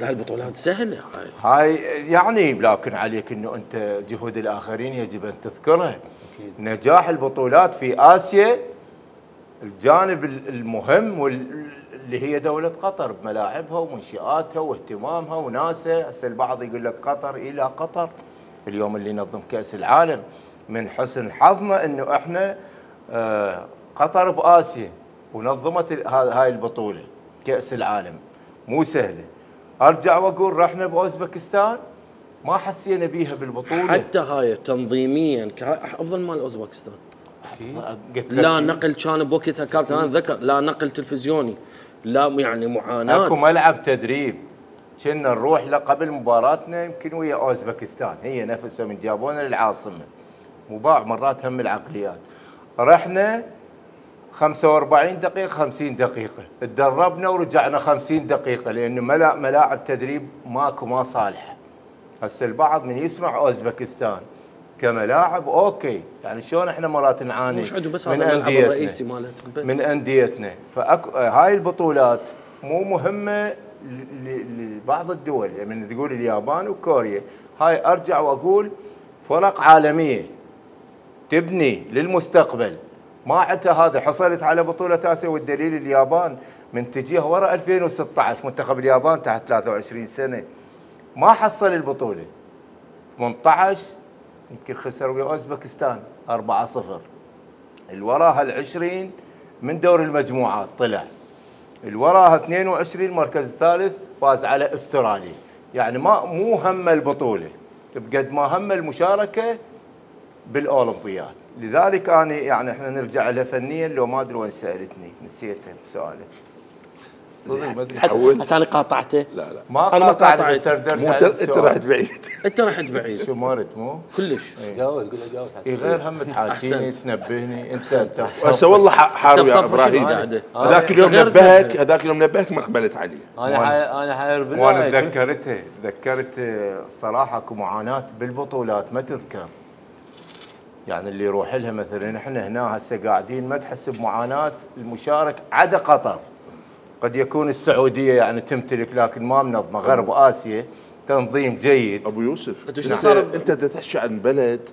[SPEAKER 1] هاي البطولات سهله هاي.
[SPEAKER 5] هاي يعني لكن عليك انه انت جهود الاخرين يجب ان تذكرها. أكيد. نجاح البطولات في اسيا الجانب المهم واللي هي دوله قطر بملاعبها ومنشآتها واهتمامها وناسها. هسه البعض يقول لك قطر الى قطر اليوم اللي ينظم كاس العالم. من حسن حظنا انه احنا آه قطر باسيا ونظمت هاي البطوله كاس العالم مو سهله. ارجع واقول رحنا باوزبكستان ما حسينا بيها بالبطوله.
[SPEAKER 1] حتى هاي تنظيميا افضل مال اوزبكستان. لا نقل كان بوقتها كابتن انا ذكر، لا نقل تلفزيوني، لا يعني معاناه.
[SPEAKER 5] اكو ملعب تدريب كنا نروح له قبل مباراتنا يمكن ويا اوزبكستان، هي نفسها من جابونا للعاصمه. مباع مرات هم العقليات. رحنا خمسة وأربعين دقيقة خمسين دقيقة، تدربنا ورجعنا خمسين دقيقة لأنه ملاعب تدريب ماكو ما صالحة. هسه البعض من يسمع أوزبكستان كملاعب أوكي، يعني شلون احنا مرات نعاني
[SPEAKER 1] بس
[SPEAKER 5] من أنديتنا من أنديتنا. فهاي البطولات مو مهمة لبعض الدول، يعني من تقول اليابان وكوريا، هاي أرجع وأقول فرق عالمية تبني للمستقبل. ما عندها هذا. حصلت على بطولة آسيا والدليل اليابان من تجيها ورا ألفين وستة عشر منتخب اليابان تحت ثلاثة وعشرين سنة ما حصل البطولة. ثمانية عشر يمكن خسر ويا اوزبكستان أربعة صفر. الوراها العشرين من دور المجموعات طلع. الوراها اثنين وعشرين مركز ثالث فاز على استراليا. يعني ما مو هم البطولة بقد ما هم المشاركة بالاولمبياد. لذلك انا يعني احنا نرجع لها فنيا لو ما ادري وين سالتني نسيتها بسؤالك. صدق ما ادري
[SPEAKER 4] حول.
[SPEAKER 1] عشان قاطعته.
[SPEAKER 4] لا لا
[SPEAKER 5] ما
[SPEAKER 1] أنا ما
[SPEAKER 5] قاطعت
[SPEAKER 1] قاطعت.
[SPEAKER 5] بس أردت
[SPEAKER 4] مو انت
[SPEAKER 5] على
[SPEAKER 4] انت
[SPEAKER 5] السؤال.
[SPEAKER 4] رحت بعيد.
[SPEAKER 1] انت رحت بعيد
[SPEAKER 5] شو مرت مو؟
[SPEAKER 1] كلش.
[SPEAKER 6] جاوز قول له جاوز
[SPEAKER 5] إي غير هم تحاكيني
[SPEAKER 1] أحسنت.
[SPEAKER 5] تنبهني انت انت
[SPEAKER 4] هسه والله ح- حارو يا
[SPEAKER 1] بصفة
[SPEAKER 4] ابراهيم.
[SPEAKER 1] شنو قاعدة؟
[SPEAKER 4] هذاك اليوم
[SPEAKER 1] غير
[SPEAKER 4] نبهك
[SPEAKER 1] تنبه.
[SPEAKER 4] هذاك اليوم نبهك ما قبلت عليه.
[SPEAKER 6] انا حي... انا حاير
[SPEAKER 5] وانا
[SPEAKER 6] بالله
[SPEAKER 5] تذكرتها تذكرت صراحه اكو معاناه بالبطولات ما تذكر. يعني اللي يروح لها مثلا احنا هنا هسه قاعدين ما تحس بمعاناه المشارك عدا قطر. قد يكون السعوديه يعني تمتلك لكن ما منظمه، غرب اسيا تنظيم جيد.
[SPEAKER 4] ابو يوسف
[SPEAKER 1] أنت شنو
[SPEAKER 4] انت
[SPEAKER 1] صار؟
[SPEAKER 4] انت بدك تحكي عن بلد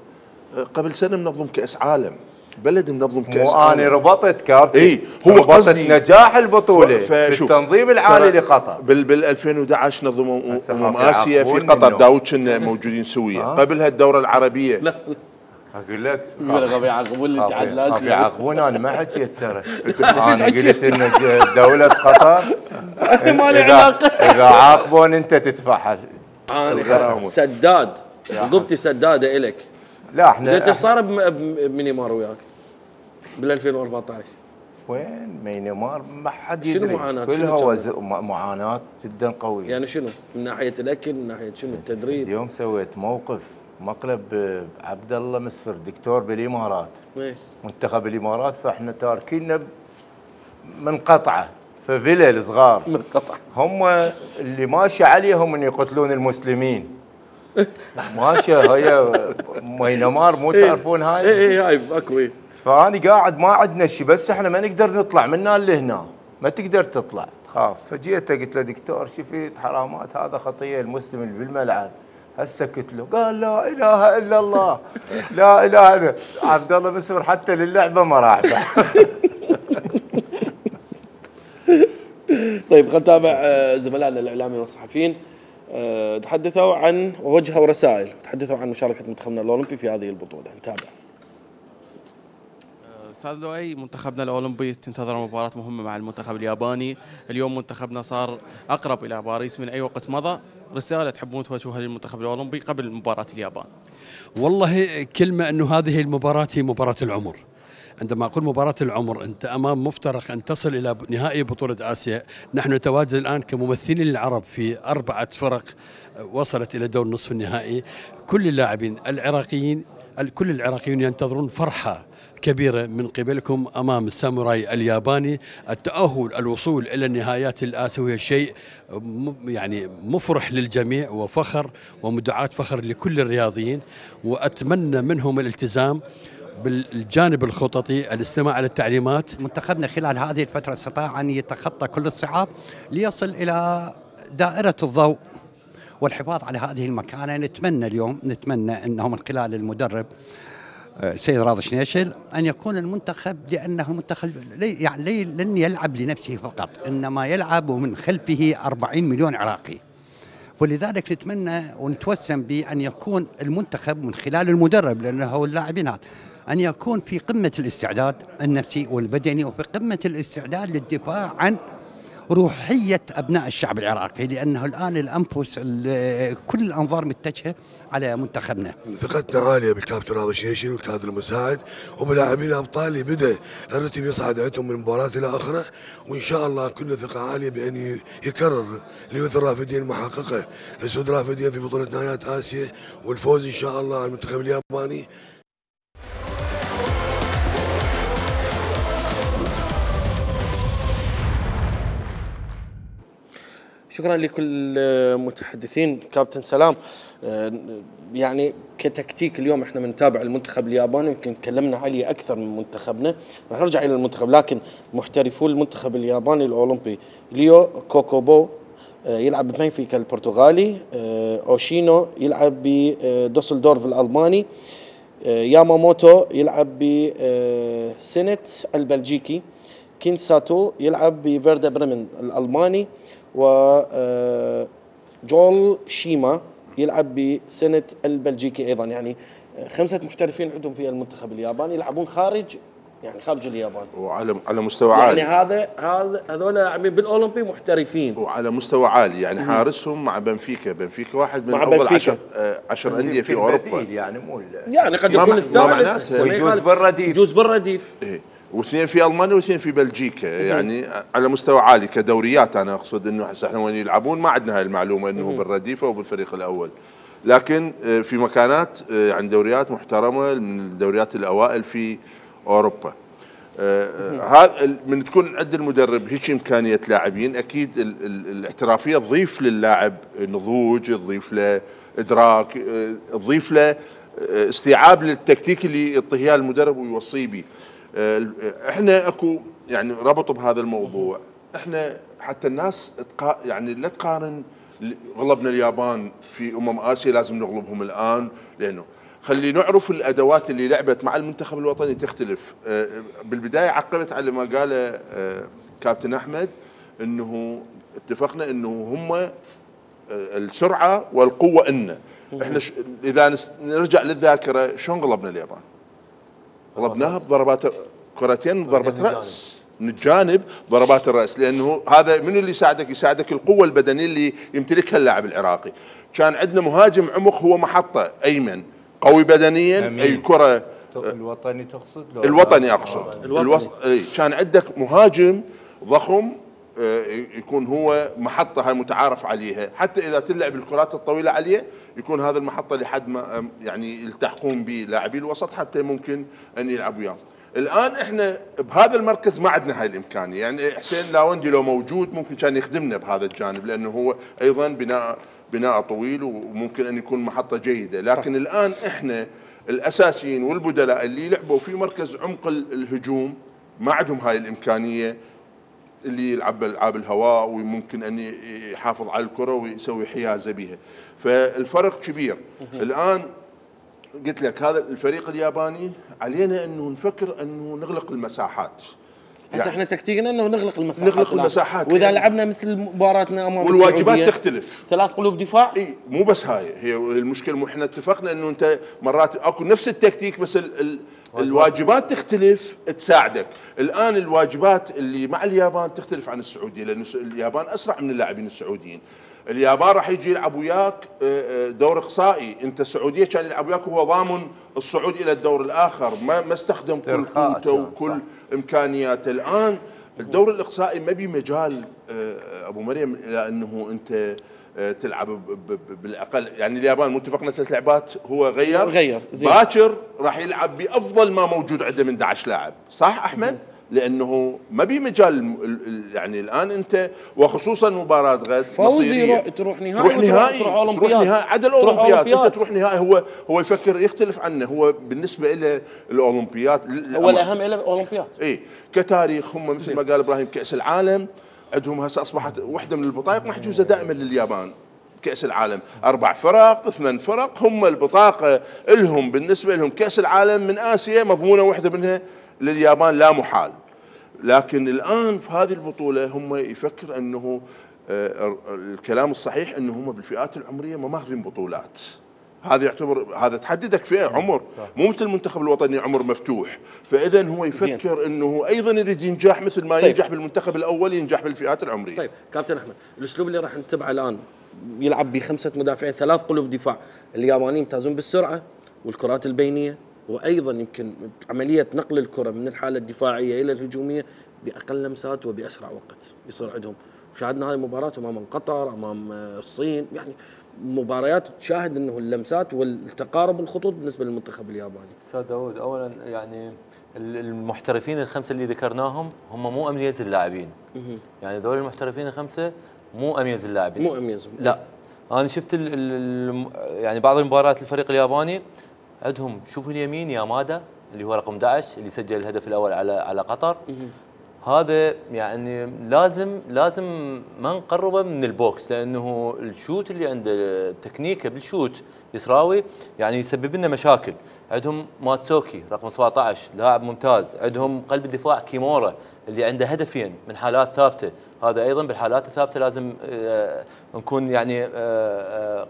[SPEAKER 4] قبل سنه منظم كاس عالم، بلد منظم كاس
[SPEAKER 5] مو
[SPEAKER 4] عالم.
[SPEAKER 5] انا ربطت كابتن.
[SPEAKER 4] اي هو
[SPEAKER 5] ربطت
[SPEAKER 4] قصدي
[SPEAKER 5] نجاح البطوله
[SPEAKER 4] ف- فشوف،
[SPEAKER 5] بالتنظيم العالي
[SPEAKER 4] ترى
[SPEAKER 5] لقطر.
[SPEAKER 4] بال بال ألفين وأحد عشر نظموا
[SPEAKER 5] هسه
[SPEAKER 4] امم
[SPEAKER 5] خاف
[SPEAKER 4] اسيا في
[SPEAKER 5] يعاقبوني
[SPEAKER 4] قطر،
[SPEAKER 5] إنه-
[SPEAKER 4] داود كنا موجودين سويا. قبلها الدوره العربيه.
[SPEAKER 1] لا
[SPEAKER 5] اقول لك
[SPEAKER 1] يقول غبي يعاقبون اللي تعاد
[SPEAKER 5] خاف
[SPEAKER 1] لازم
[SPEAKER 5] يعاقبون انا ما حكيت ترى. انا قلت ان دوله قطر
[SPEAKER 1] ما لي
[SPEAKER 5] اذا
[SPEAKER 1] علاقه.
[SPEAKER 5] اذا عاقبون انت تدفع.
[SPEAKER 1] انا
[SPEAKER 4] الغرامة.
[SPEAKER 1] سداد عقوبتي سداده الك.
[SPEAKER 5] لا احنا
[SPEAKER 1] زين ايش صار بم- بمينيمار وياك بال ألفين وأربعة عشر؟
[SPEAKER 5] وين مينمار ما حد
[SPEAKER 1] شنو
[SPEAKER 5] يدري.
[SPEAKER 1] معاناة؟
[SPEAKER 5] كلها
[SPEAKER 1] شنو
[SPEAKER 5] وز... م- معاناه جدا قويه.
[SPEAKER 1] يعني شنو؟ من ناحيه الاكل، من ناحيه شنو؟ التدريب؟
[SPEAKER 5] اليوم سويت موقف مقلب عبد الله مسفر دكتور بالامارات،
[SPEAKER 1] إيه.
[SPEAKER 5] منتخب الامارات، فاحنا تاركيننا منقطعه في فيلل صغار
[SPEAKER 1] منقطع.
[SPEAKER 5] هم اللي ماشي عليهم ان يقتلون المسلمين. ماشيه هي مينمار مو تعرفون هاي.
[SPEAKER 1] اي اي هاي اكو إيه.
[SPEAKER 5] فاني قاعد ما عندنا شيء بس احنا ما نقدر نطلع من هنا لهنا، ما تقدر تطلع تخاف. فجيت قلت له دكتور شفت حرامات هذا خطيه المسلم اللي بالملعب. هسه قلت له قال لا اله الا الله لا اله الا عبد الله مسور حتى للعبه ما راح.
[SPEAKER 1] طيب خلينا نتابع آه، زملائنا الاعلاميين والصحفيين آه، تحدثوا عن ووجهوا رسائل، تحدثوا عن مشاركه منتخبنا الاولمبي في هذه البطوله. نتابع.
[SPEAKER 2] استاذ لؤي، منتخبنا الاولمبي تنتظر مباراه مهمه مع المنتخب الياباني. اليوم منتخبنا صار اقرب الى باريس من اي وقت مضى. رساله تحبون توجهوها للمنتخب الاولمبي قبل مباراه اليابان؟
[SPEAKER 7] والله كلمة أنه هذه المباراة هي مباراة العمر. عندما أقول مباراة العمر أنت أمام مفترق أن تصل إلى نهائي بطولة آسيا. نحن نتواجد الآن كممثلين العرب في أربعة فرق وصلت إلى دور نصف النهائي. كل اللاعبين العراقيين كل العراقيون ينتظرون فرحة كبيرة من قبلكم أمام الساموراي الياباني. التأهل الوصول إلى النهايات الآسيوية شيء يعني مفرح للجميع وفخر ومدعاة فخر لكل الرياضيين، وأتمنى منهم الالتزام بالجانب الخططي، الاستماع على التعليمات.
[SPEAKER 8] منتخبنا خلال هذه الفترة استطاع أن يتخطى كل الصعاب ليصل إلى دائرة الضوء والحفاظ على هذه المكانة. نتمنى اليوم نتمنى أنه من خلال المدرب سيد راضي شنيشل أن يكون المنتخب، لأنه المنتخب يعني لن يلعب لنفسه فقط إنما يلعب من خلفه أربعين مليون عراقي. ولذلك نتمنى ونتوسم بأن يكون المنتخب من خلال المدرب لأنه اللاعبين هذا أن يكون في قمة الاستعداد النفسي والبدني وفي قمة الاستعداد للدفاع عن روحية أبناء الشعب العراقي، لأنه الآن الأنفس كل الأنظار متجهة على منتخبنا.
[SPEAKER 9] ثقتنا عالية بالكابتن راضي شنيشل والكادر المساعد وبلاعبين الأبطال اللي بدأ الرتم يصعد عندهم من مباراة إلى أخرى، وإن شاء الله كل ثقة عالية بأن يكرر ليوث الرافدين المحققة لسود رافدين في بطولة نهائيات آسيا والفوز إن شاء الله على المنتخب الياباني.
[SPEAKER 1] شكرا لكل المتحدثين. كابتن سلام، يعني كتكتيك اليوم احنا بنتابع المنتخب الياباني، يمكن تكلمنا عليه اكثر من منتخبنا، راح نرجع الى المنتخب، لكن محترفو المنتخب الياباني الاولمبي ليو كوكوبو يلعب ببنفيكا البرتغالي، اوشينو يلعب بدوسلدورف الالماني، ياماموتو يلعب بسينت البلجيكي، كينساتو يلعب بفيردا بريمن الالماني، و جول شيما يلعب بسنة البلجيكي أيضا. يعني خمسة محترفين عندهم في المنتخب الياباني يلعبون خارج يعني خارج اليابان،
[SPEAKER 4] وعلى على مستوى عالي.
[SPEAKER 1] يعني هذا هذا هذول لاعبين بالأولمبي محترفين
[SPEAKER 4] وعلى مستوى عالي، يعني حارسهم مع بنفيكا، بنفيكا واحد من
[SPEAKER 1] مع
[SPEAKER 4] أفضل
[SPEAKER 1] بنفيكا.
[SPEAKER 4] عشر آه عشر أندية في أوروبا.
[SPEAKER 5] يعني مو
[SPEAKER 1] يعني قد
[SPEAKER 4] ما
[SPEAKER 1] يكون
[SPEAKER 4] مع-
[SPEAKER 1] الثالث
[SPEAKER 4] ما معناته-
[SPEAKER 1] هسه ما
[SPEAKER 5] ويجوز
[SPEAKER 1] يخالف.
[SPEAKER 5] بالرديف.
[SPEAKER 1] يجوز بالرديف.
[SPEAKER 4] إيه. واثنين في المانيا واثنين في بلجيكا، يعني على مستوى عالي كدوريات. انا اقصد انه هسه احنا وين يلعبون ما عندنا هاي المعلومه انه بالرديفه وبالفريق الاول، لكن في مكانات يعني دوريات محترمه من الدوريات الاوائل في اوروبا. هذا من تكون عند المدرب هيك امكانيه لاعبين، اكيد ال ال الاحترافيه تضيف للاعب نضوج، تضيف له ادراك، تضيف له استيعاب للتكتيك اللي يعطيه اياه المدرب ويوصيه به. احنا اكو يعني ربط بهذا الموضوع، احنا حتى الناس تقا يعني لا تقارن غلبنا اليابان في امم اسيا لازم نغلبهم الان، لانه خلي نعرف الادوات اللي لعبت مع المنتخب الوطني تختلف. بالبدايه عقبت على ما قاله كابتن احمد، انه اتفقنا انه هم السرعه والقوه إلنا. احنا اذا نرجع للذاكره شلون غلبنا اليابان؟ غلبناها بضربات كرتين ضربه راس من الجانب، ضربات الراس، لانه هذا من اللي يساعدك؟ يساعدك القوه البدنيه اللي يمتلكها اللاعب العراقي. كان عندنا مهاجم عمق هو محطه ايمن قوي بدنيا، اي كره
[SPEAKER 5] الوطني تقصد؟
[SPEAKER 4] الوطني اقصد الوطني. كان عندك مهاجم ضخم يكون هو محطه هاي متعارف عليها، حتى اذا تلعب الكرات الطويله عليه يكون هذا المحطه لحد ما يعني يلتحقون به لاعبي الوسط حتى ممكن ان يلعبوا وياه. الان احنا بهذا المركز ما عندنا هاي الامكانيه، يعني حسين لاوندي لو موجود ممكن كان يخدمنا بهذا الجانب، لانه هو ايضا بناء بناء طويل وممكن ان يكون محطه جيده، لكن صح. الان احنا الاساسيين والبدلاء اللي لعبوا في مركز عمق الهجوم ما عندهم هاي الامكانيه اللي يلعب العاب الهواء وممكن ان يحافظ على الكره ويسوي حيازه بها. فالفرق كبير. الان قلت لك هذا الفريق الياباني علينا انه نفكر انه نغلق المساحات.
[SPEAKER 1] هسه يعني احنا تكتيكنا انه نغلق المساحات،
[SPEAKER 4] نغلق المساحات،
[SPEAKER 1] واذا يعني لعبنا مثل مباراتنا امام
[SPEAKER 4] والواجبات تختلف،
[SPEAKER 1] ثلاث قلوب دفاع.
[SPEAKER 4] اي مو بس هاي هي المشكله، مو احنا اتفقنا انه انت مرات اكو نفس التكتيك بس ال ال الواجبات تختلف تساعدك. الان الواجبات اللي مع اليابان تختلف عن السعوديه، لانه اليابان اسرع من اللاعبين السعوديين. اليابان راح يجي يلعب وياك دور اقصائي، انت السعوديه كان يلعب وياك وهو ضامن الصعود الى الدور الاخر، ما ما استخدم كل قوته وكل امكانياته. الان الدور الاقصائي ما بي مجال ابو مريم الى انه انت تلعب بالاقل، يعني اليابان متفقنا ثلاث لعبات هو غير
[SPEAKER 1] غير
[SPEAKER 4] باكر راح يلعب بافضل ما موجود عنده من أحد عشر لاعب، صح احمد؟ لانه ما بي مجال يعني الان انت وخصوصا مباراه غد
[SPEAKER 1] مصيريه تروح نهائي
[SPEAKER 4] تروح نهائي
[SPEAKER 1] تروح اولمبياد
[SPEAKER 4] عدا الاولمبياد انت تروح نهائي. هو هو يفكر يختلف عنه، هو بالنسبه له الاولمبياد
[SPEAKER 1] هو الاهم له الاولمبياد.
[SPEAKER 4] اي كتاريخ هم مثل ما قال ابراهيم كاس العالم عندهم هسه اصبحت واحده من البطاقه محجوزه دائما لليابان. كاس العالم اربع فرق ثمان فرق هم البطاقه لهم، بالنسبه لهم كاس العالم من اسيا مضمونه واحده منها لليابان لا محال. لكن الان في هذه البطوله هم يفكر انه الكلام الصحيح انه هم بالفئات العمريه ما ماخذين بطولات. هذا يعتبر هذا تحددك فئه عمر، مو مثل المنتخب الوطني عمر مفتوح. فاذا هو يفكر انه ايضا يريد ينجح مثل ما طيب. ينجح بالمنتخب الاول ينجح بالفئات العمريه.
[SPEAKER 1] طيب كابتن احمد، الاسلوب اللي راح نتبعه الان يلعب بخمسه مدافعين ثلاث قلوب دفاع، اليابانيين يمتازون بالسرعه والكرات البينيه، وايضا يمكن عمليه نقل الكره من الحاله الدفاعيه الى الهجوميه باقل لمسات وباسرع وقت يصير عندهم. شاهدنا هذه المباراه امام قطر، امام الصين، يعني مباريات تشاهد انه اللمسات والتقارب الخطوط بالنسبه للمنتخب الياباني.
[SPEAKER 6] استاذ داوود، اولا يعني المحترفين الخمسه اللي ذكرناهم هم مو اميز اللاعبين. يعني ذول المحترفين الخمسه مو اميز اللاعبين،
[SPEAKER 1] مو اميزهم.
[SPEAKER 6] لا، انا شفت ال ال يعني بعض المباريات الفريق الياباني عندهم، شوفوا اليمين يامادا اللي هو رقم أحد عشر اللي سجل الهدف الاول على على قطر. هذا يعني لازم لازم ما نقربه من البوكس، لانه الشوت اللي عنده تكنيكه بالشوت يسراوي يعني يسبب لنا مشاكل. عندهم ماتسوكي رقم سبعة عشر لاعب ممتاز. عندهم قلب الدفاع كيمورا اللي عنده هدفين من حالات ثابته. هذا ايضا بالحالات الثابته لازم نكون يعني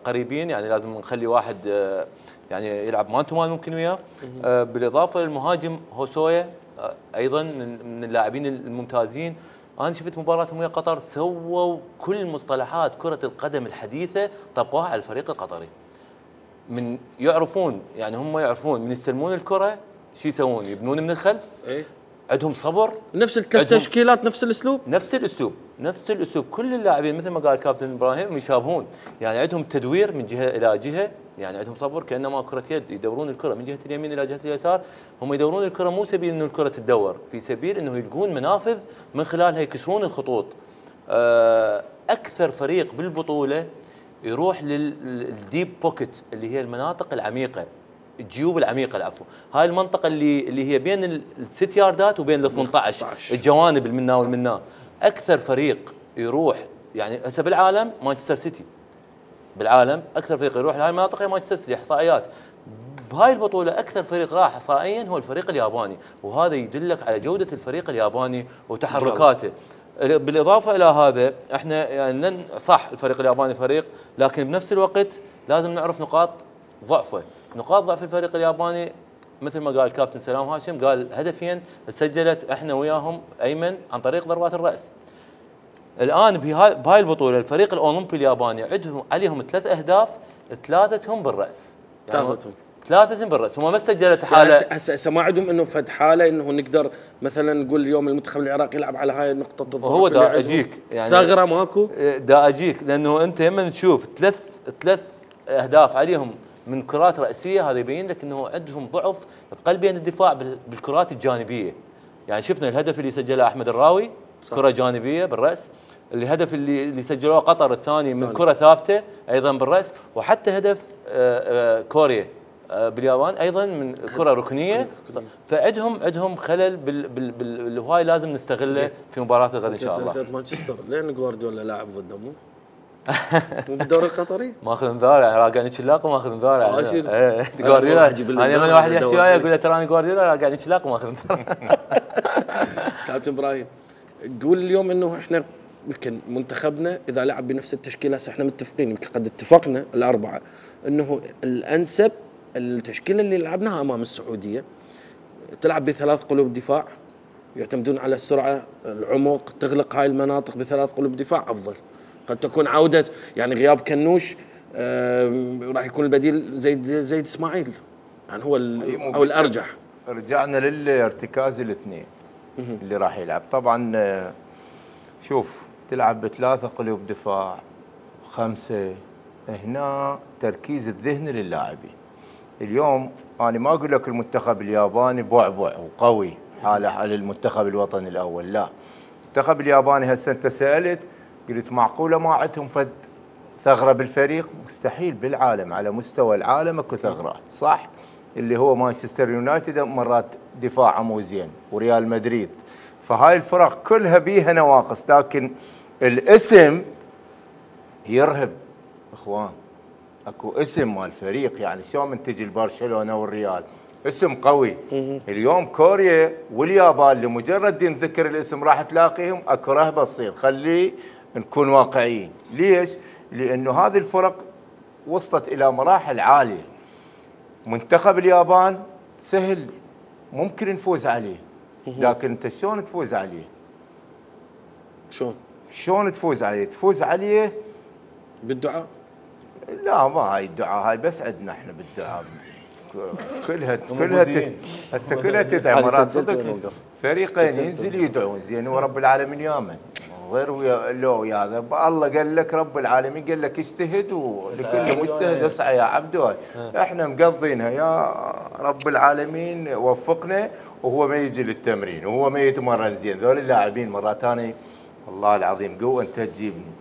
[SPEAKER 6] قريبين، يعني لازم نخلي واحد يعني يلعب مان تو مان ممكن وياه. بالاضافه للمهاجم هوسويا ايضا من اللاعبين الممتازين. انا شفت مباراتهم ويا قطر سووا كل مصطلحات كره القدم الحديثه طبقوها على الفريق القطري. من يعرفون يعني هم يعرفون من يستلمون الكره شو يسوون؟ يبنون من الخلف،
[SPEAKER 1] إيه؟
[SPEAKER 6] عندهم صبر،
[SPEAKER 1] نفس الثلاث تشكيلات نفس الاسلوب
[SPEAKER 6] نفس الاسلوب نفس الاسلوب كل اللاعبين مثل ما قال الكابتن ابراهيم يشابهون، يعني عندهم تدوير من جهه الى جهه، يعني عندهم صبر كانما كره يد، يدورون الكره من جهه اليمين الى جهه اليسار، هم يدورون الكره مو سبيل انه الكره تدور، في سبيل انه يلقون منافذ من خلالها يكسرون الخطوط. اكثر فريق بالبطوله يروح للديب بوكيت اللي هي المناطق العميقه، الجيوب العميقه العفو، هاي المنطقه اللي اللي هي بين الست ياردات وبين ال ثمانية عشر، الجوانب المنا والمنا. اكثر فريق يروح يعني هسه بالعالم مانشستر سيتي، بالعالم اكثر فريق يروح لهاي المناطق هي مانشستر سيتي، احصائيات بهاي البطوله اكثر فريق راح احصائيا هو الفريق الياباني، وهذا يدلك على جوده الفريق الياباني وتحركاته. بالاضافه الى هذا احنا يعني صح الفريق الياباني فريق، لكن بنفس الوقت لازم نعرف نقاط ضعفه. نقاط ضعف الفريق الياباني مثل ما قال الكابتن سلام هاشم، قال هدفين سجلت احنا وياهم ايمن عن طريق ضربات الراس. الان بهاي بهاي البطوله الفريق الاولمبي الياباني عندهم عليهم ثلاث اهداف، ثلاثتهم بالراس، يعني
[SPEAKER 1] ثلاثتهم
[SPEAKER 6] ثلاثتهم بالراس، هم ما سجلت حاله.
[SPEAKER 1] هسه هسه ما عندهم انه فد حاله انه نقدر مثلا نقول اليوم المنتخب العراقي يلعب على هاي النقطه الضعف.
[SPEAKER 6] هو دا اجيك يعني
[SPEAKER 1] ثغره ماكو،
[SPEAKER 6] دا اجيك لانه انت لما تشوف ثلاث ثلاث اهداف عليهم من كرات راسيه، هذا يبين لك انه عندهم ضعف بقلبين الدفاع بالكرات الجانبيه. يعني شفنا الهدف اللي سجله احمد الراوي صح. كره جانبيه بالراس، الهدف اللي اللي سجلوه قطر الثاني من كره ثابته ايضا بالراس، وحتى هدف آآ آآ كوريا باليابان ايضا من كره ركنيه. فعندهم عندهم خلل بال بال بال وهاي لازم نستغله في مباراه الغد ان شاء الله.
[SPEAKER 1] مانشستر لين جوارديولا لاعب ضده مو مو بالدوري القطري؟
[SPEAKER 6] ماخذ انذار يعني راقعني شلاق وماخذ انذار يعني. ايه جوارديولا انا من واحد يحكي وياي اقول له تراني جوارديولا راقعني شلاق وماخذ انذار.
[SPEAKER 1] كابتن ابراهيم قول اليوم انه احنا يمكن منتخبنا اذا لعب بنفس التشكيله، احنا متفقين يمكن قد اتفقنا الاربعه انه الانسب التشكيله اللي لعبناها امام السعوديه تلعب بثلاث قلوب دفاع، يعتمدون على السرعه، العمق، تغلق هاي المناطق بثلاث قلوب دفاع افضل. قد تكون عوده يعني غياب كنوش راح يكون البديل زيد زيد اسماعيل، يعني هو او الارجح.
[SPEAKER 5] رجعنا للارتكاز الاثنين اللي راح يلعب. طبعا شوف تلعب بثلاثه قلوب دفاع خمسه، هنا تركيز الذهن للاعبين. اليوم انا ما اقول لك المنتخب الياباني بعبع وقوي حاله على المنتخب الوطني الاول، لا. المنتخب الياباني هسه انت سالت قلت معقوله ما عندهم فد ثغره بالفريق؟ مستحيل، بالعالم على مستوى العالم اكو ثغرات، صح؟ اللي هو مانشستر يونايتد مرات دفاعه مو زين وريال مدريد، فهاي الفرق كلها بيها نواقص، لكن الاسم يرهب اخوان. اكو اسم مال الفريق، يعني شلون من تجي البرشلونه والريال اسم قوي. اليوم كوريا واليابان لمجرد ينذكر الاسم راح تلاقيهم اكو رهبه تصير. خليه نكون واقعيين. ليش؟ لانه هذه الفرق وصلت الى مراحل عاليه. منتخب اليابان سهل ممكن نفوز عليه، لكن انت شلون تفوز عليه؟
[SPEAKER 1] شلون؟
[SPEAKER 5] شلون تفوز عليه؟ تفوز عليه
[SPEAKER 1] بالدعاء؟
[SPEAKER 5] لا، ما هاي الدعاء، هاي بس عندنا احنا بالدعاء كلها كلها هسه كلها تدعي. مرات صدق فريقين ينزل يدعون زين ورب العالمين يامن، غير ويا لو يا هذا الله قال لك رب العالمين قال لك اجتهد ولكل مجتهد اسعى يا عبد. احنا مقضينها يا رب العالمين وفقنا، وهو ما يجي للتمرين وهو ما يتمرن زين. ذول اللاعبين مرات ثانيه والله العظيم قوه انت تجيبني.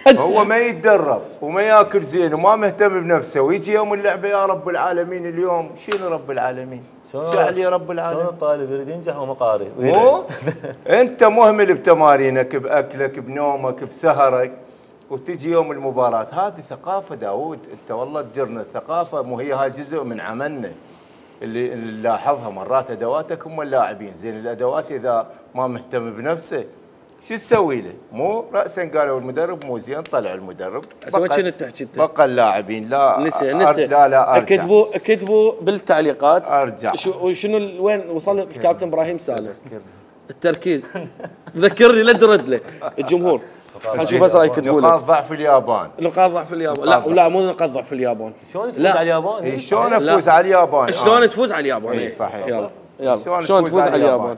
[SPEAKER 5] هو ما يتدرب وما ياكل زين وما مهتم بنفسه، ويجي يوم اللعبه يا رب العالمين. اليوم شنو رب العالمين؟ شعل يا رب العالمين.
[SPEAKER 6] شلون الطالب يريد ينجح وما قاري؟
[SPEAKER 5] مو انت مهمل بتمارينك باكلك بنومك بسهرك، وتجي يوم المباراه. هذه ثقافه داوود، انت والله تجرنا الثقافه، مو هي هاي جزء من عملنا اللي نلاحظها. مرات ادواتك هم اللاعبين زين، الادوات اذا ما مهتم بنفسه شو تسوي له؟ مو راسا قالوا المدرب مو زين، طلع المدرب
[SPEAKER 1] هسه وين كنت تحكي انت؟
[SPEAKER 5] بقى اللاعبين لا
[SPEAKER 1] نسي نسي
[SPEAKER 5] لا لا ارجع.
[SPEAKER 1] كتبوا كتبوا بالتعليقات
[SPEAKER 5] ارجع
[SPEAKER 1] وشنو وين وصل الكابتن ابراهيم سالم التركيز. ذكرني لا ترد له الجمهور. خلينا نشوف هسه يكتبوا لك
[SPEAKER 5] نقاط ضعف اليابان.
[SPEAKER 1] نقاط ضعف اليابان لا ولا مو نقاط ضعف اليابان.
[SPEAKER 6] شلون تفوز على اليابان؟
[SPEAKER 5] شلون افوز على اليابان؟
[SPEAKER 1] شلون تفوز على اليابان؟
[SPEAKER 5] اي صحيح.
[SPEAKER 1] يلا يلا شلون تفوز على اليابان؟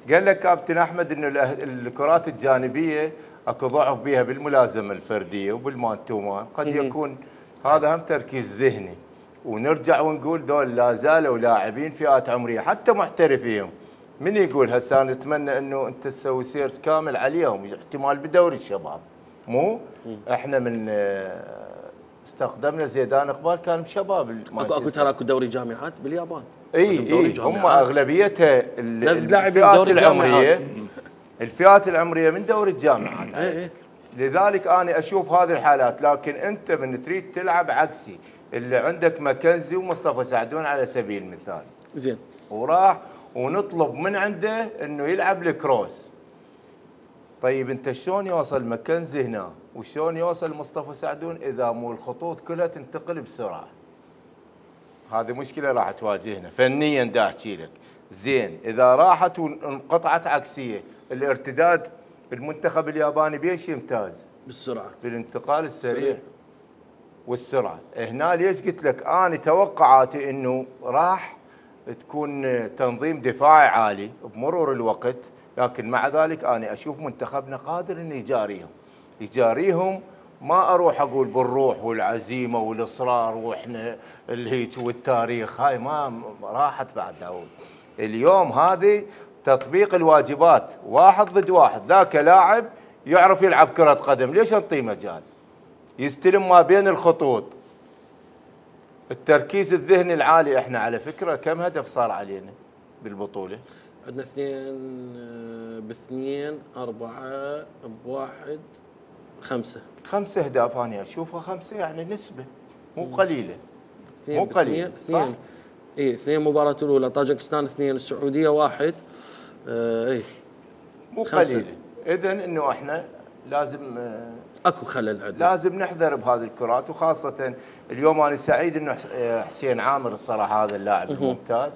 [SPEAKER 5] قال لك كابتن احمد انه الأه- الكرات الجانبيه اكو ضعف بها بالملازمه الفرديه وبالمان تو مان، قد يكون هذا هم تركيز ذهني. ونرجع ونقول دول لا زالوا لاعبين فئات عمريه حتى محترفين. من يقول هسه نتمنى انه انت تسوي سيرش كامل عليهم، احتمال بدوري الشباب. مو احنا من آه، استخدمنا زيدان اقبال كان بشباب
[SPEAKER 1] اكو اكو ترى اكو دوري جامعات باليابان.
[SPEAKER 5] اي اي هم اغلبيتها ال-
[SPEAKER 1] ثلاث لاعبين
[SPEAKER 5] الفئات
[SPEAKER 1] دوري
[SPEAKER 5] العمريه
[SPEAKER 1] الجامعات.
[SPEAKER 5] الفئات العمريه من دوري الجامعات.
[SPEAKER 1] إيه إيه.
[SPEAKER 5] لذلك انا اشوف هذه الحالات، لكن انت من تريد تلعب عكسي اللي عندك ماكنزي ومصطفى سعدون على سبيل المثال،
[SPEAKER 1] زين،
[SPEAKER 5] وراح ونطلب من عنده انه يلعب الكروس. طيب انت شلون يوصل ماكنزي هنا وشلون يوصل مصطفى سعدون اذا مو الخطوط كلها تنتقل بسرعه؟ هذه مشكله راح تواجهنا فنيا. دا احكي لك زين اذا راحت وانقطعت عكسيه، الارتداد المنتخب الياباني بيش يمتاز؟
[SPEAKER 1] بالسرعه،
[SPEAKER 5] بالانتقال السريع
[SPEAKER 1] سريع.
[SPEAKER 5] والسرعه. هنا ليش قلت لك انا توقعاتي انه راح تكون تنظيم دفاعي عالي بمرور الوقت، لكن مع ذلك انا اشوف منتخبنا قادر انه يجاريهم يجاريهم ما اروح اقول بالروح والعزيمه والاصرار واحنا الهيك والتاريخ، هاي ما راحت بعد داود. اليوم هذه تطبيق الواجبات واحد ضد واحد، ذاك لاعب يعرف يلعب كرة قدم ليش نعطيه مجال؟ يستلم ما بين الخطوط. التركيز الذهني العالي، احنا على فكرة كم هدف صار علينا بالبطولة؟
[SPEAKER 1] عندنا اثنين آه، باثنين، أربعة بواحد، خمسة.
[SPEAKER 5] خمسة أهداف أنا أشوفها خمسة يعني نسبة مو قليلة.
[SPEAKER 1] اثنين
[SPEAKER 5] مو قليل
[SPEAKER 1] اثنين،
[SPEAKER 5] صح؟
[SPEAKER 1] اي اثنين مباراة الأولى طاجكستان اثنين، السعودية واحد. آه اي
[SPEAKER 5] مو
[SPEAKER 1] خمسة.
[SPEAKER 5] قليلة. إذن إنه احنا لازم آه،
[SPEAKER 1] اكو خلل عندنا،
[SPEAKER 5] لازم نحذر بهذه الكرات، وخاصة اليوم أنا سعيد إنه حس- آه، حسين عامر الصراحة هذا اللاعب الممتاز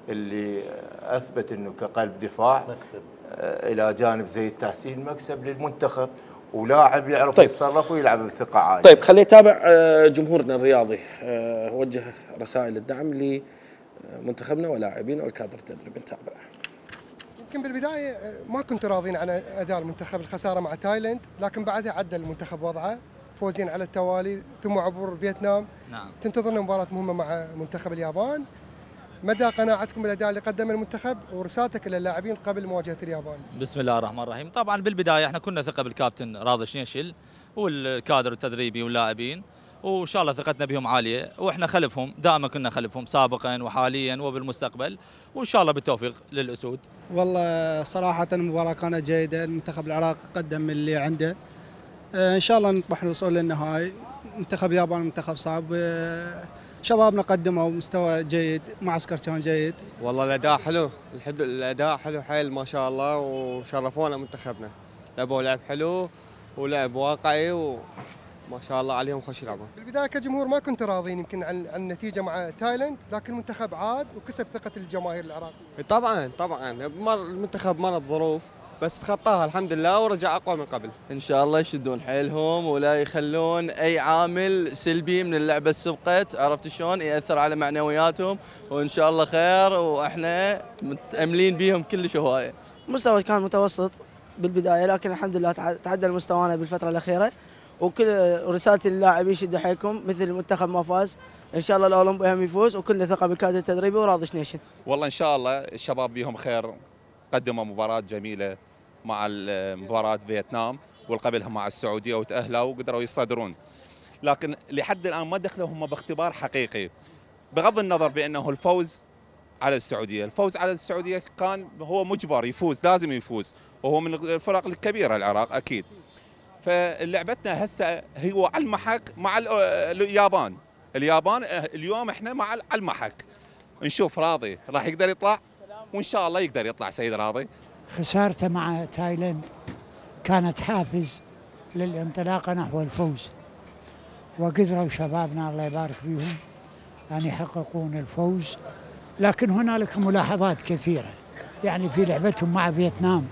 [SPEAKER 5] اللي آه، أثبت إنه كقلب دفاع
[SPEAKER 6] مكسب.
[SPEAKER 5] آه، إلى جانب زي التحسين مكسب للمنتخب، ولاعب يعرف
[SPEAKER 1] طيب.
[SPEAKER 5] يتصرف ويلعب بثقة عالية.
[SPEAKER 1] طيب خلينا نتابع آه، جمهورنا الرياضي، آه، وجه رسائل الدعم لمنتخبنا ولاعبينا والكادر التدريبي. نتابع.
[SPEAKER 10] يمكن بالبدايه ما كنت راضين عن اداء المنتخب، الخساره مع تايلاند، لكن بعدها عدل المنتخب وضعه، فوزين على التوالي ثم عبور فيتنام.
[SPEAKER 11] نعم.
[SPEAKER 10] تنتظرنا مباراه مهمه مع منتخب اليابان. مدى قناعتكم بالاداء اللي قدمه المنتخب ورسالتك للاعبين قبل مواجهه اليابان؟
[SPEAKER 11] بسم الله الرحمن الرحيم. طبعا بالبدايه احنا كنا ثقه بالكابتن راضي شنيشل والكادر التدريبي واللاعبين، وان شاء الله ثقتنا بهم عاليه، واحنا خلفهم دائما، كنا خلفهم سابقا وحاليا وبالمستقبل، وان شاء الله بالتوفيق للاسود.
[SPEAKER 12] والله صراحة المباراة كانت جيدة، المنتخب العراقي قدم اللي عنده، آه، إن شاء الله نطمح للوصول للنهائي. منتخب اليابان منتخب صعب، آه، شبابنا قدموا مستوى جيد، معسكر كان جيد.
[SPEAKER 13] والله الأداء حلو، الحد الأداء حلو حيل ما شاء الله، وشرفونا منتخبنا، لعبوا لعب حلو ولعب واقعي وما شاء الله عليهم خوش يلعبون.
[SPEAKER 10] بالبدايه كجمهور ما كنت راضين يمكن عن عن النتيجه مع تايلاند، لكن المنتخب عاد وكسب ثقه الجماهير العراقيه.
[SPEAKER 13] طبعا طبعا مر المنتخب مر بظروف بس تخطاها الحمد لله ورجع اقوى من قبل.
[SPEAKER 14] ان شاء الله يشدون حيلهم ولا يخلون اي عامل سلبي من اللعبه السبقت، عرفت شلون ياثر على معنوياتهم، وان شاء الله خير واحنا متاملين بيهم كلش هوايه.
[SPEAKER 15] مستوى كان متوسط بالبدايه، لكن الحمد لله تعدل مستوانا بالفتره الاخيره، وكل رسالتي للاعبين شدوا حيلكم، مثل المنتخب ما فاز ان شاء الله الاولمبي هم يفوز، وكلنا ثقه بالكادر التدريبي وراضي شنيشن.
[SPEAKER 16] والله ان شاء الله الشباب بيهم خير، قدموا مباراه جميله مع مباراه فيتنام والقبلها مع السعوديه وتاهلوا وقدروا يصدرون، لكن لحد الان ما دخلوا هم باختبار حقيقي، بغض النظر بانه الفوز على السعوديه، الفوز على السعوديه كان هو مجبر يفوز، لازم يفوز، وهو من الفرق الكبيره العراق اكيد. فلعبتنا هسه هو على المحك مع اليابان، اليابان اليوم احنا مع على المحك، نشوف راضي راح يقدر يطلع، وان شاء الله يقدر يطلع سيد راضي.
[SPEAKER 17] خسارته مع تايلاند كانت حافز للانطلاقه نحو الفوز، وقدروا شبابنا الله يبارك فيهم ان يحققون الفوز، لكن هنالك ملاحظات كثيره، يعني في لعبتهم مع فيتنام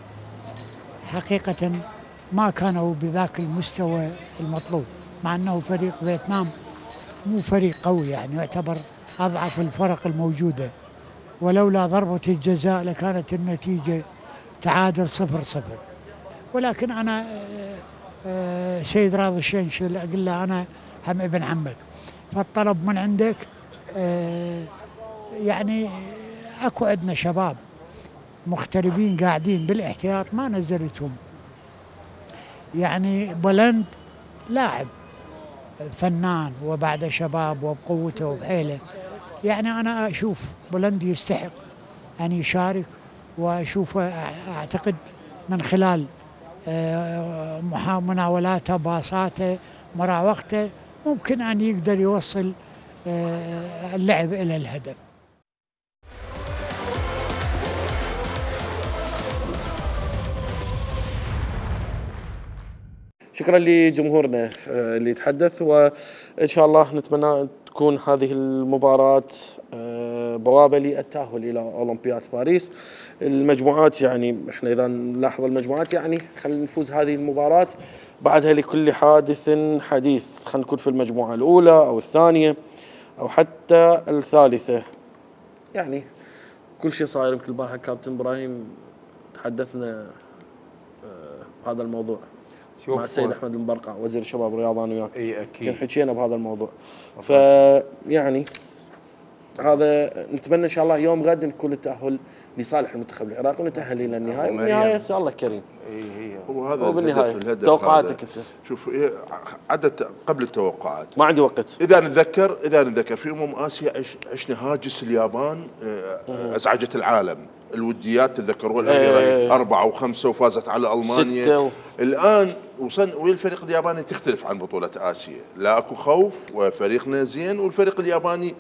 [SPEAKER 17] حقيقه ما كانوا بذاك المستوى المطلوب، مع انه فريق فيتنام مو فريق قوي، يعني يعتبر اضعف الفرق الموجوده، ولولا ضربه الجزاء لكانت النتيجه تعادل صفر صفر. ولكن أنا سيد راضي الشنشل أقول له أنا هم ابن عمك، فالطلب من عندك يعني اكو عندنا شباب مغتربين قاعدين بالاحتياط ما نزلتهم، يعني بولند لاعب فنان وبعد شباب وبقوته وبحيله، يعني انا اشوف بولند يستحق ان يشارك، واشوفه اعتقد من خلال مناولاته باصاته مراوغته ممكن ان يقدر يوصل اللعب الى الهدف.
[SPEAKER 1] شكرا لجمهورنا اللي تحدث، وان شاء الله نتمنى تكون هذه المباراة بوابة للتأهل الى اولمبياد باريس. المجموعات يعني احنا اذا نلاحظ المجموعات يعني خلينا نفوز هذه المباراة بعدها لكل حادث حديث، خلينا نكون في المجموعة الاولى او الثانية او حتى الثالثة، يعني كل شيء صاير. يمكن البارحة كابتن ابراهيم تحدثنا بهذا الموضوع مع السيد احمد المبرقع وزير الشباب والرياضه انا وياك،
[SPEAKER 5] اي اكيد
[SPEAKER 1] حكينا بهذا الموضوع. فيعني هذا نتمنى ان شاء الله يوم غد نكون التاهل لصالح المنتخب العراقي ونتاهل الى النهائي، والنهايه ان شاء الله كريم.
[SPEAKER 5] اي هي
[SPEAKER 4] هو هذا
[SPEAKER 1] وبالنهايه
[SPEAKER 4] الهدف
[SPEAKER 1] توقعاتك انت؟
[SPEAKER 4] شوف عدد قبل التوقعات
[SPEAKER 1] ما عندي وقت.
[SPEAKER 4] اذا نتذكر اذا نتذكر في امم اسيا عشنا هاجس اليابان ازعجت العالم، الوديات تذكروا الاخيره ايه أربعة وخمسة وفازت على المانيا و... الان وصل والفريق الياباني تختلف عن بطوله اسيا، لا اكو خوف وفريقنا زين، والفريق الياباني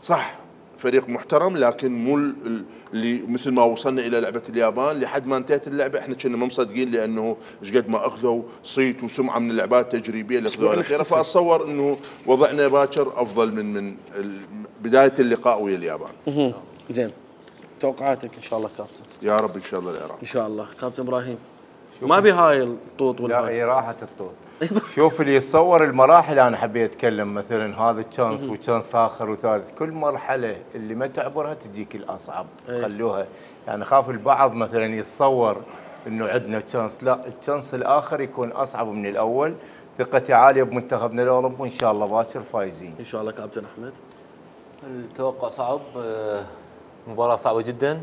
[SPEAKER 4] صح فريق محترم لكن مو اللي مثل ما وصلنا الى لعبه اليابان لحد ما انتهت اللعبه احنا كنا ما مصدقين، لانه ايش قد ما اخذوا صيت وسمعه من اللعبات التجريبيه اللي اخذوها الاخيره، فاتصور انه وضعنا باكر افضل من من بدايه اللقاء ويا اليابان.
[SPEAKER 1] زين توقعاتك ان شاء الله كابتن؟
[SPEAKER 4] يا رب ان شاء الله العراق
[SPEAKER 1] ان شاء الله. كابتن ابراهيم ما بي هاي الطوط ولا
[SPEAKER 5] لا هي راحت الطوط. شوف اللي يتصور المراحل انا حبيت اتكلم مثلا هذا تشانس وتشانس اخر وثالث، كل مرحله اللي ما تعبرها تجيك الاصعب. أيه. خلوها يعني خاف البعض مثلا يتصور انه عندنا تشانس، لا التشانس الاخر يكون اصعب من الاول. ثقتي عاليه بمنتخبنا الاولمبي وان شاء الله باكر فايزين
[SPEAKER 1] ان شاء الله. كابتن احمد
[SPEAKER 6] التوقع صعب، مباراة صعبة جدا.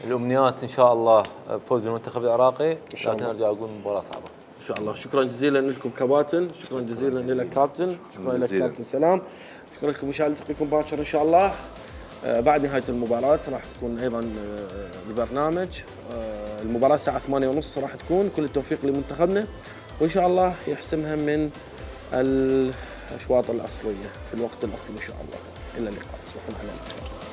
[SPEAKER 6] الأمنيات إن شاء الله بفوز المنتخب العراقي، لكن أرجع أقول مباراة صعبة
[SPEAKER 1] إن شاء الله. شكرا جزيلا لكم كباتن، شكرا جزيلا لك كابتن، شكرا لك كابتن سلام، شكرا لكم مشاهدة. نلتقيكم باكر إن شاء الله بعد نهاية المباراة. راح تكون أيضا البرنامج المباراة الساعة ثمانية ونص راح تكون. كل التوفيق لمنتخبنا وإن شاء الله يحسمها من الأشواط الأصلية في الوقت الأصلي إن شاء الله. إلى اللقاء، تصبحون على خير.